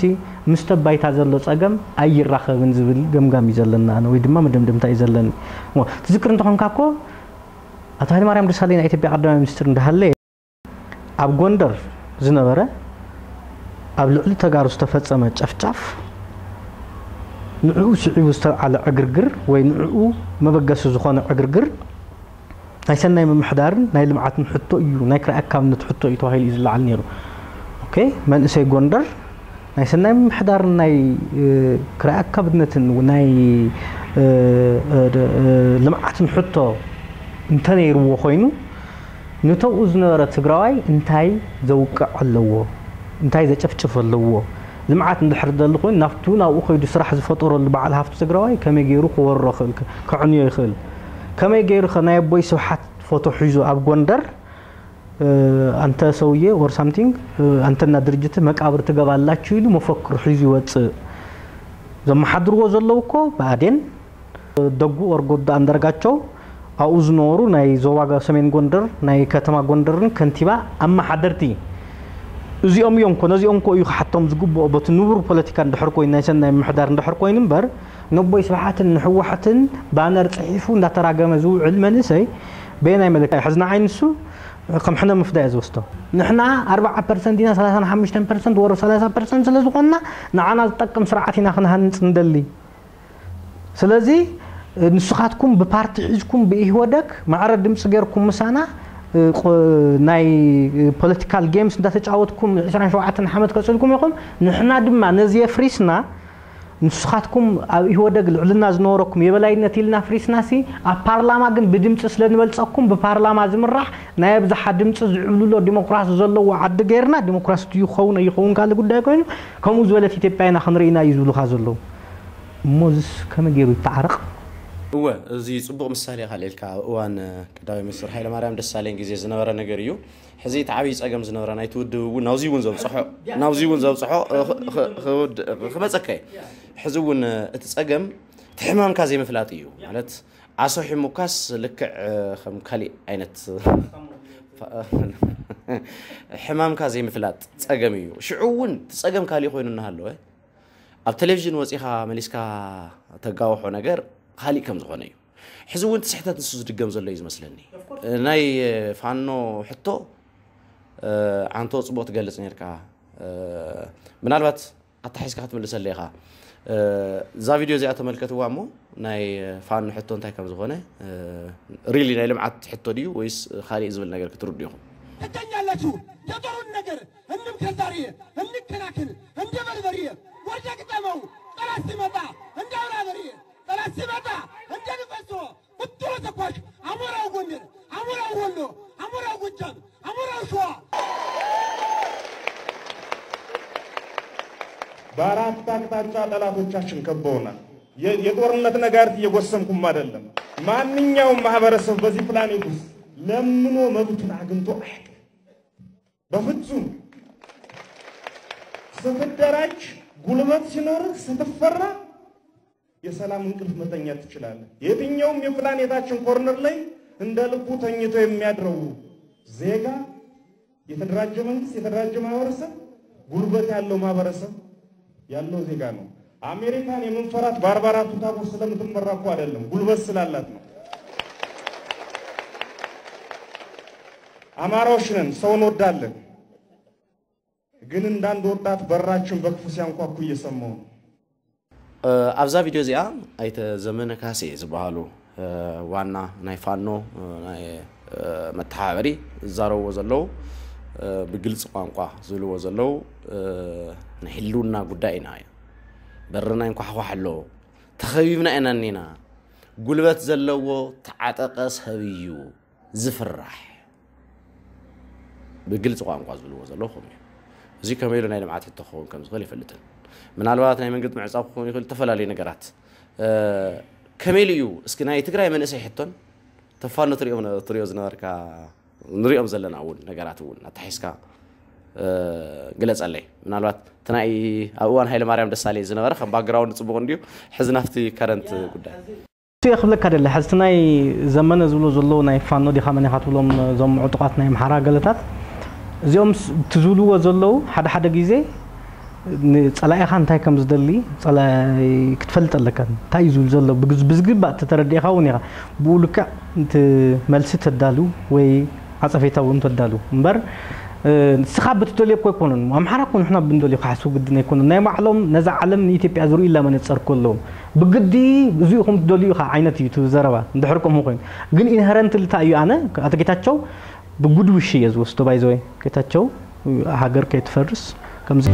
ምስቲ ባይታ ዘሎ ጸገም ኣይራኸብን ዝብል ገምጋም እዩ ዘለና፣ ኣነ ወይ ድማ መደምደምታ እዩ ዘለኒ። እሞ ትዝክር እንተኾንካ እኮ ኣቶ ሃይለማርያም ደሳለኝ ናይ ኢትዮጵያ ቀዳማይ ሚኒስትር እንዳሃለየ ኣብ ጎንደር ዝነበረ ኣብ ልዕሊ ተጋሩ ዝተፈጸመ ጨፍጫፍ ንዕኡ ስዒቡ ዝተልዓለ ዕግርግር ወይ ንዕኡ መበገሲ ዝኾነ ዕግርግር ናይ ሰናይ ምምሕዳርን ናይ ልምዓትን ሕቶ እዩ፣ ናይ ክራይ ኣካብነት ሕቶ እዩ ተባሂሉ እዩ ዝለዓል ነይሩ። ኦኬ፣ መንእሰይ ጎንደር ናይ ሰናይ ምምሕዳርን ናይ ክራይ ኣካብነትን ናይ ልምዓትን ሕቶ እንተነይርዎ ኮይኑ ንተብኡ ዝነበረ ትግራዋይ እንታይ ዘውቅዕ ኣለዎ? እንታይ ዘጨፍጭፍ ኣለዎ? ልምዓት እንድሕር ደሊ ኮይኑ ናብቱ ናብኡ ከይዱ ስራሕ ዝፈጠረሉ በዓል ሃፍቲ ትግራዋይ ከመይ ገይሩ ክወሮ ይኽእል? ከዕንዮ ይኽእል? ከመይ ገይሩ ከ ናይ ኣቦይ ስብሓት ፎቶ ሒዙ ኣብ ጎንደር ኣንተ ሰውዬ or something ኣንተና ድርጅት መቃብር ትገባላችሁ ኢሉ መፈክር ሒዙ ይወፅእ? ዘመሓድርዎ ዘለዉ እኮ ብኣዴን ደጉ or ጎዳ ኣንዳርጋቸው ኣብኡ ዝነበሩ ናይ ዞባ ሰሜን ጎንደር ናይ ከተማ ጎንደርን ከንቲባ ኣመሓደርቲ እዚኦም እዮም እኮ። ነዚኦም እኮ እዩ ክሓቶም ዝግብኦ። በቲ ንቡር ፖለቲካ እንድሕር ኮይኑ ናይ ሰናይ ምምሕዳር እንድሕር ኮይኑ እምበር ነቦይ ስብሓትን ንህወሓትን ባነር ፅሒፉ እንዳተራገመ ዝውዕል መንእሰይ በየናይ መለክዒ ሕዝና ዓይንሱ ከም ሕነ ምፍዳ እየ ዝወስዶ። ንሕና ኣርባዓ ፐርሰንት ኢና፣ ሰላሳ ሓሙሽተ ፐርሰንት ወረ ሰላሳ ፐርሰንት ስለ ዝኾንና ንዓና ዝጠቅም ስርዓት ኢና ክንሃንፅ እንደሊ። ስለዚ ንስኻትኩም ብፓርቲ ሒዝኩም ብኢህወደግ ማዕረ ድምፂ ገይርኩም ምሳና ናይ ፖለቲካል ጌምስ እንዳተጫወትኩም ዕስራን ሸውዓተን ዓመት ቀፅልኩም ኢኹም። ንሕና ድማ ነዚ የፍሪስና ንስኻትኩም ኣብ ኢህወደግ ልዕልና ዝነበረኩም የበላይነት ኢልና ፍሪስናሲ ኣብ ፓርላማ ግን ብድምፂ ስለ ንበልፀኩም ብፓርላማ ዝምራሕ ናይ ኣብዝሓ ድምፂ ዝዕብልሎ ዲሞክራሲ ዘለዎ ዓዲ ገይርና ዲሞክራሲ ድዩ ክኸውን ኣይኸውን ካልእ ጉዳይ ኮይኑ ከምኡ ዝበለት ኢትዮጵያ ኢና ክንርኢና እዩ ዝብሉኻ ዘለዉ። እሞ እዚስ ከመይ ገይሩ ይተዓረቕ? እወ፣ እዚ ጽቡቕ ምሳሌ ኢኻ ኣልዒልካ። ኣብ እዋን ቀዳማይ ሚኒስትር ሃይለማርያም ደሳለኝ ግዜ ዝነበረ ነገር እዩ። ሕዚ እቲ ዓብዪ ጸገም ዝነበረ ናይቲ ውድብ እውን ናብዚ እውን ዘብጽሖ ናብዚ እውን ዘብጽሖ ክበጸካ እዩ። ሕዚ እውን እቲ ጸገም እቲ ሕማምካ ዘይምፍላጥ እዩ። ማለት ዓሶ ሒሙካስ ልክዕ ከም ካሊእ ዓይነት ሕማምካ ዘይምፍላጥ ጸገም እዩ። ሽዑ እውን እቲ ጸገም ካሊእ ኮይኑ እናሃለወ ኣብ ቴሌቪዥን ወጺኻ መሊስካ ተጋውሖ ነገር ካሊእ ከም ዝኾነ እዩ። ሕዚ እውን እቲ ስሕተት ንሱ ዝድገም ዘሎ እዩ ዝመስለኒ። ናይ ፋኖ ሕቶ ዓንቶ ጽቡቕ ትገልጽ ነርካ። ምናልባት ኣታሒዝካ ክትምልሰለይ ኢኻ። እዛ ቪድዮ እዚኣ ተመልከትዋ እሞ ናይ ፋኖ ሕቶ እንታይ ከም ዝኾነ፣ ሪሊ ናይ ልምዓት ሕቶ ድዩ ወይስ ካሊእ ዝብል ነገር ክትርዱ ኢኹም? ትገኛላችሁ። የጦሩን ነገር እንምከር ዛሬ፣ እንከላከል እንደ በርበሬ። ወደ ግጠመው ጠላት ሲመጣ እንደ አውራ በሬ፣ ጠላት ሲመጣ እንደ ንፈሶ ቁጥሩ ተኳሽ አሞራው ጎንደር፣ አሞራው ወሎ፣ አሞራው ጎጃም፣ አሞራው ሸዋ። በአራት አቅጣጫ ጠላቶቻችን ከበውናል። የጦርነት ነጋሪት እየጎሰምኩም አይደለም። ማንኛውም ማህበረሰብ በዚህ ፕላኔት ውስጥ ለምኖ መብቱን አግኝቶ አያውቅም። በፍጹም። ስትደራጅ፣ ጉልበት ሲኖርህ፣ ስትፈራ የሰላም እንቅልፍ መተኛት ትችላለህ። የትኛውም የፕላኔታችን ኮርነር ላይ እንደ ልቡ ተኝቶ የሚያድረው ዜጋ የተደራጀ መንግስት፣ የተደራጀ ማህበረሰብ፣ ጉልበት ያለው ማህበረሰብ ያለው ዜጋ ነው። አሜሪካን የምንፈራት ባርባራ ቱታቦር ስለምትመራ እኮ አይደለም፣ ጉልበት ስላላት ነው። አማራዎች ነን፣ ሰው እንወዳለን። ግን እንዳንድ ወጣት በራችን በክፉ ሲያንኳኩ እየሰማሁ ነው። ኣብዛ ቪድዮ እዚኣ ኣይተ ዘመነ ካሴ ዝበሃሉ ዋና ናይ ፋኖ ናይ መተሓባበሪ ዝዛረብዎ ዘለዉ፣ ብግልፂ ቋንቋ ዝብልዎ ዘለዉ፣ ናይ ህልውና ጉዳይ ኢና። በርና ይንኳሕኳሕ ኣሎ፣ ተኸቢብና ኢና እኒና። ጉልበት ዘለዎ ተዓጠቐ ሰብ እዩ ዝፍራሕ። ብግልፂ ቋንቋ ዝብልዎ ዘለዉ ከምኡ እዩ። እዚ ከመይ ኢሉ ናይ ልምዓት ሕቶ ክኸውን ከም ዝኽእል ይፈልጥን። ምናልባት ናይ መንገዲ ምዕፃው ክኸውን ይኽእል፣ ዝተፈላለዩ ነገራት። ከመይ ኢሉ እዩ እስኪ ናይ ትግራይ መንእሰይ ሕቶን ተፋኖ ትሪኦ ዝነበርካ ንሪኦም ዘለና እውን ነገራት እውን ኣታሒዝካ ግለፀለይ። ምናልባት እቲ ናይ ኣብ እዋን ሃይለ ማርያም ደሳለኝ ዝነበረ ከም ባክግራውንድ ፅቡቕ እንድዩ። ሕዚ ናብቲ ከረንት ጉዳይ እቲ ክብለካ ደለ ሕዝቲ ናይ ዘመነ ዝብሎ ዘለዉ ናይ ፋኖ ዲኻ መን ኢኻ ትብሎም እዞም ዕጡቓት ናይ ኣምሓራ ገለታት እዚኦም ስ- እቲ ዝብልዎ ዘለዉ ሓደ ሓደ ግዜ ንፀላኢኻ እንታይ ከም ዝደሊ ፀላኢ ክትፈልጥ ኣለካ እንታይ እዩ ዝብል ዘሎ ብግዝ- ብዝግባእ ተተረዲእኻ እውን ኢኻ ብኡ ልክዕ እቲ መልሲ ተዳሉ ወይ ዓፀፌታ እውን ተዳሉ እምበር ንስኻ ብትደልዮ እኮ ኣይኮኑን ኣምሓራ እኮ ንሕና ብንደልዮ ክሓስቡ ግድን ኣይኮኑን ናይ ባዕሎም ነዛ ዓለም ንኢትዮጵያ ዝርእዩላ መነፀር እኮ ኣለዎም ብግዲ እዚኡ ከም ትደልዩ ኢኻ ዓይነት እዩ እቲ ዘረባ እንድሕር ከምኡ ኮይኑ ግን ኢንሄረንትሊ እንታይ እዩ ኣነ ኣቶ ጌታቸው ብጉድ ዊሽ እየ ዝወስዶ ባይዘወይ ጌታቸው ሃገር ከይትፈርስ ከምዚ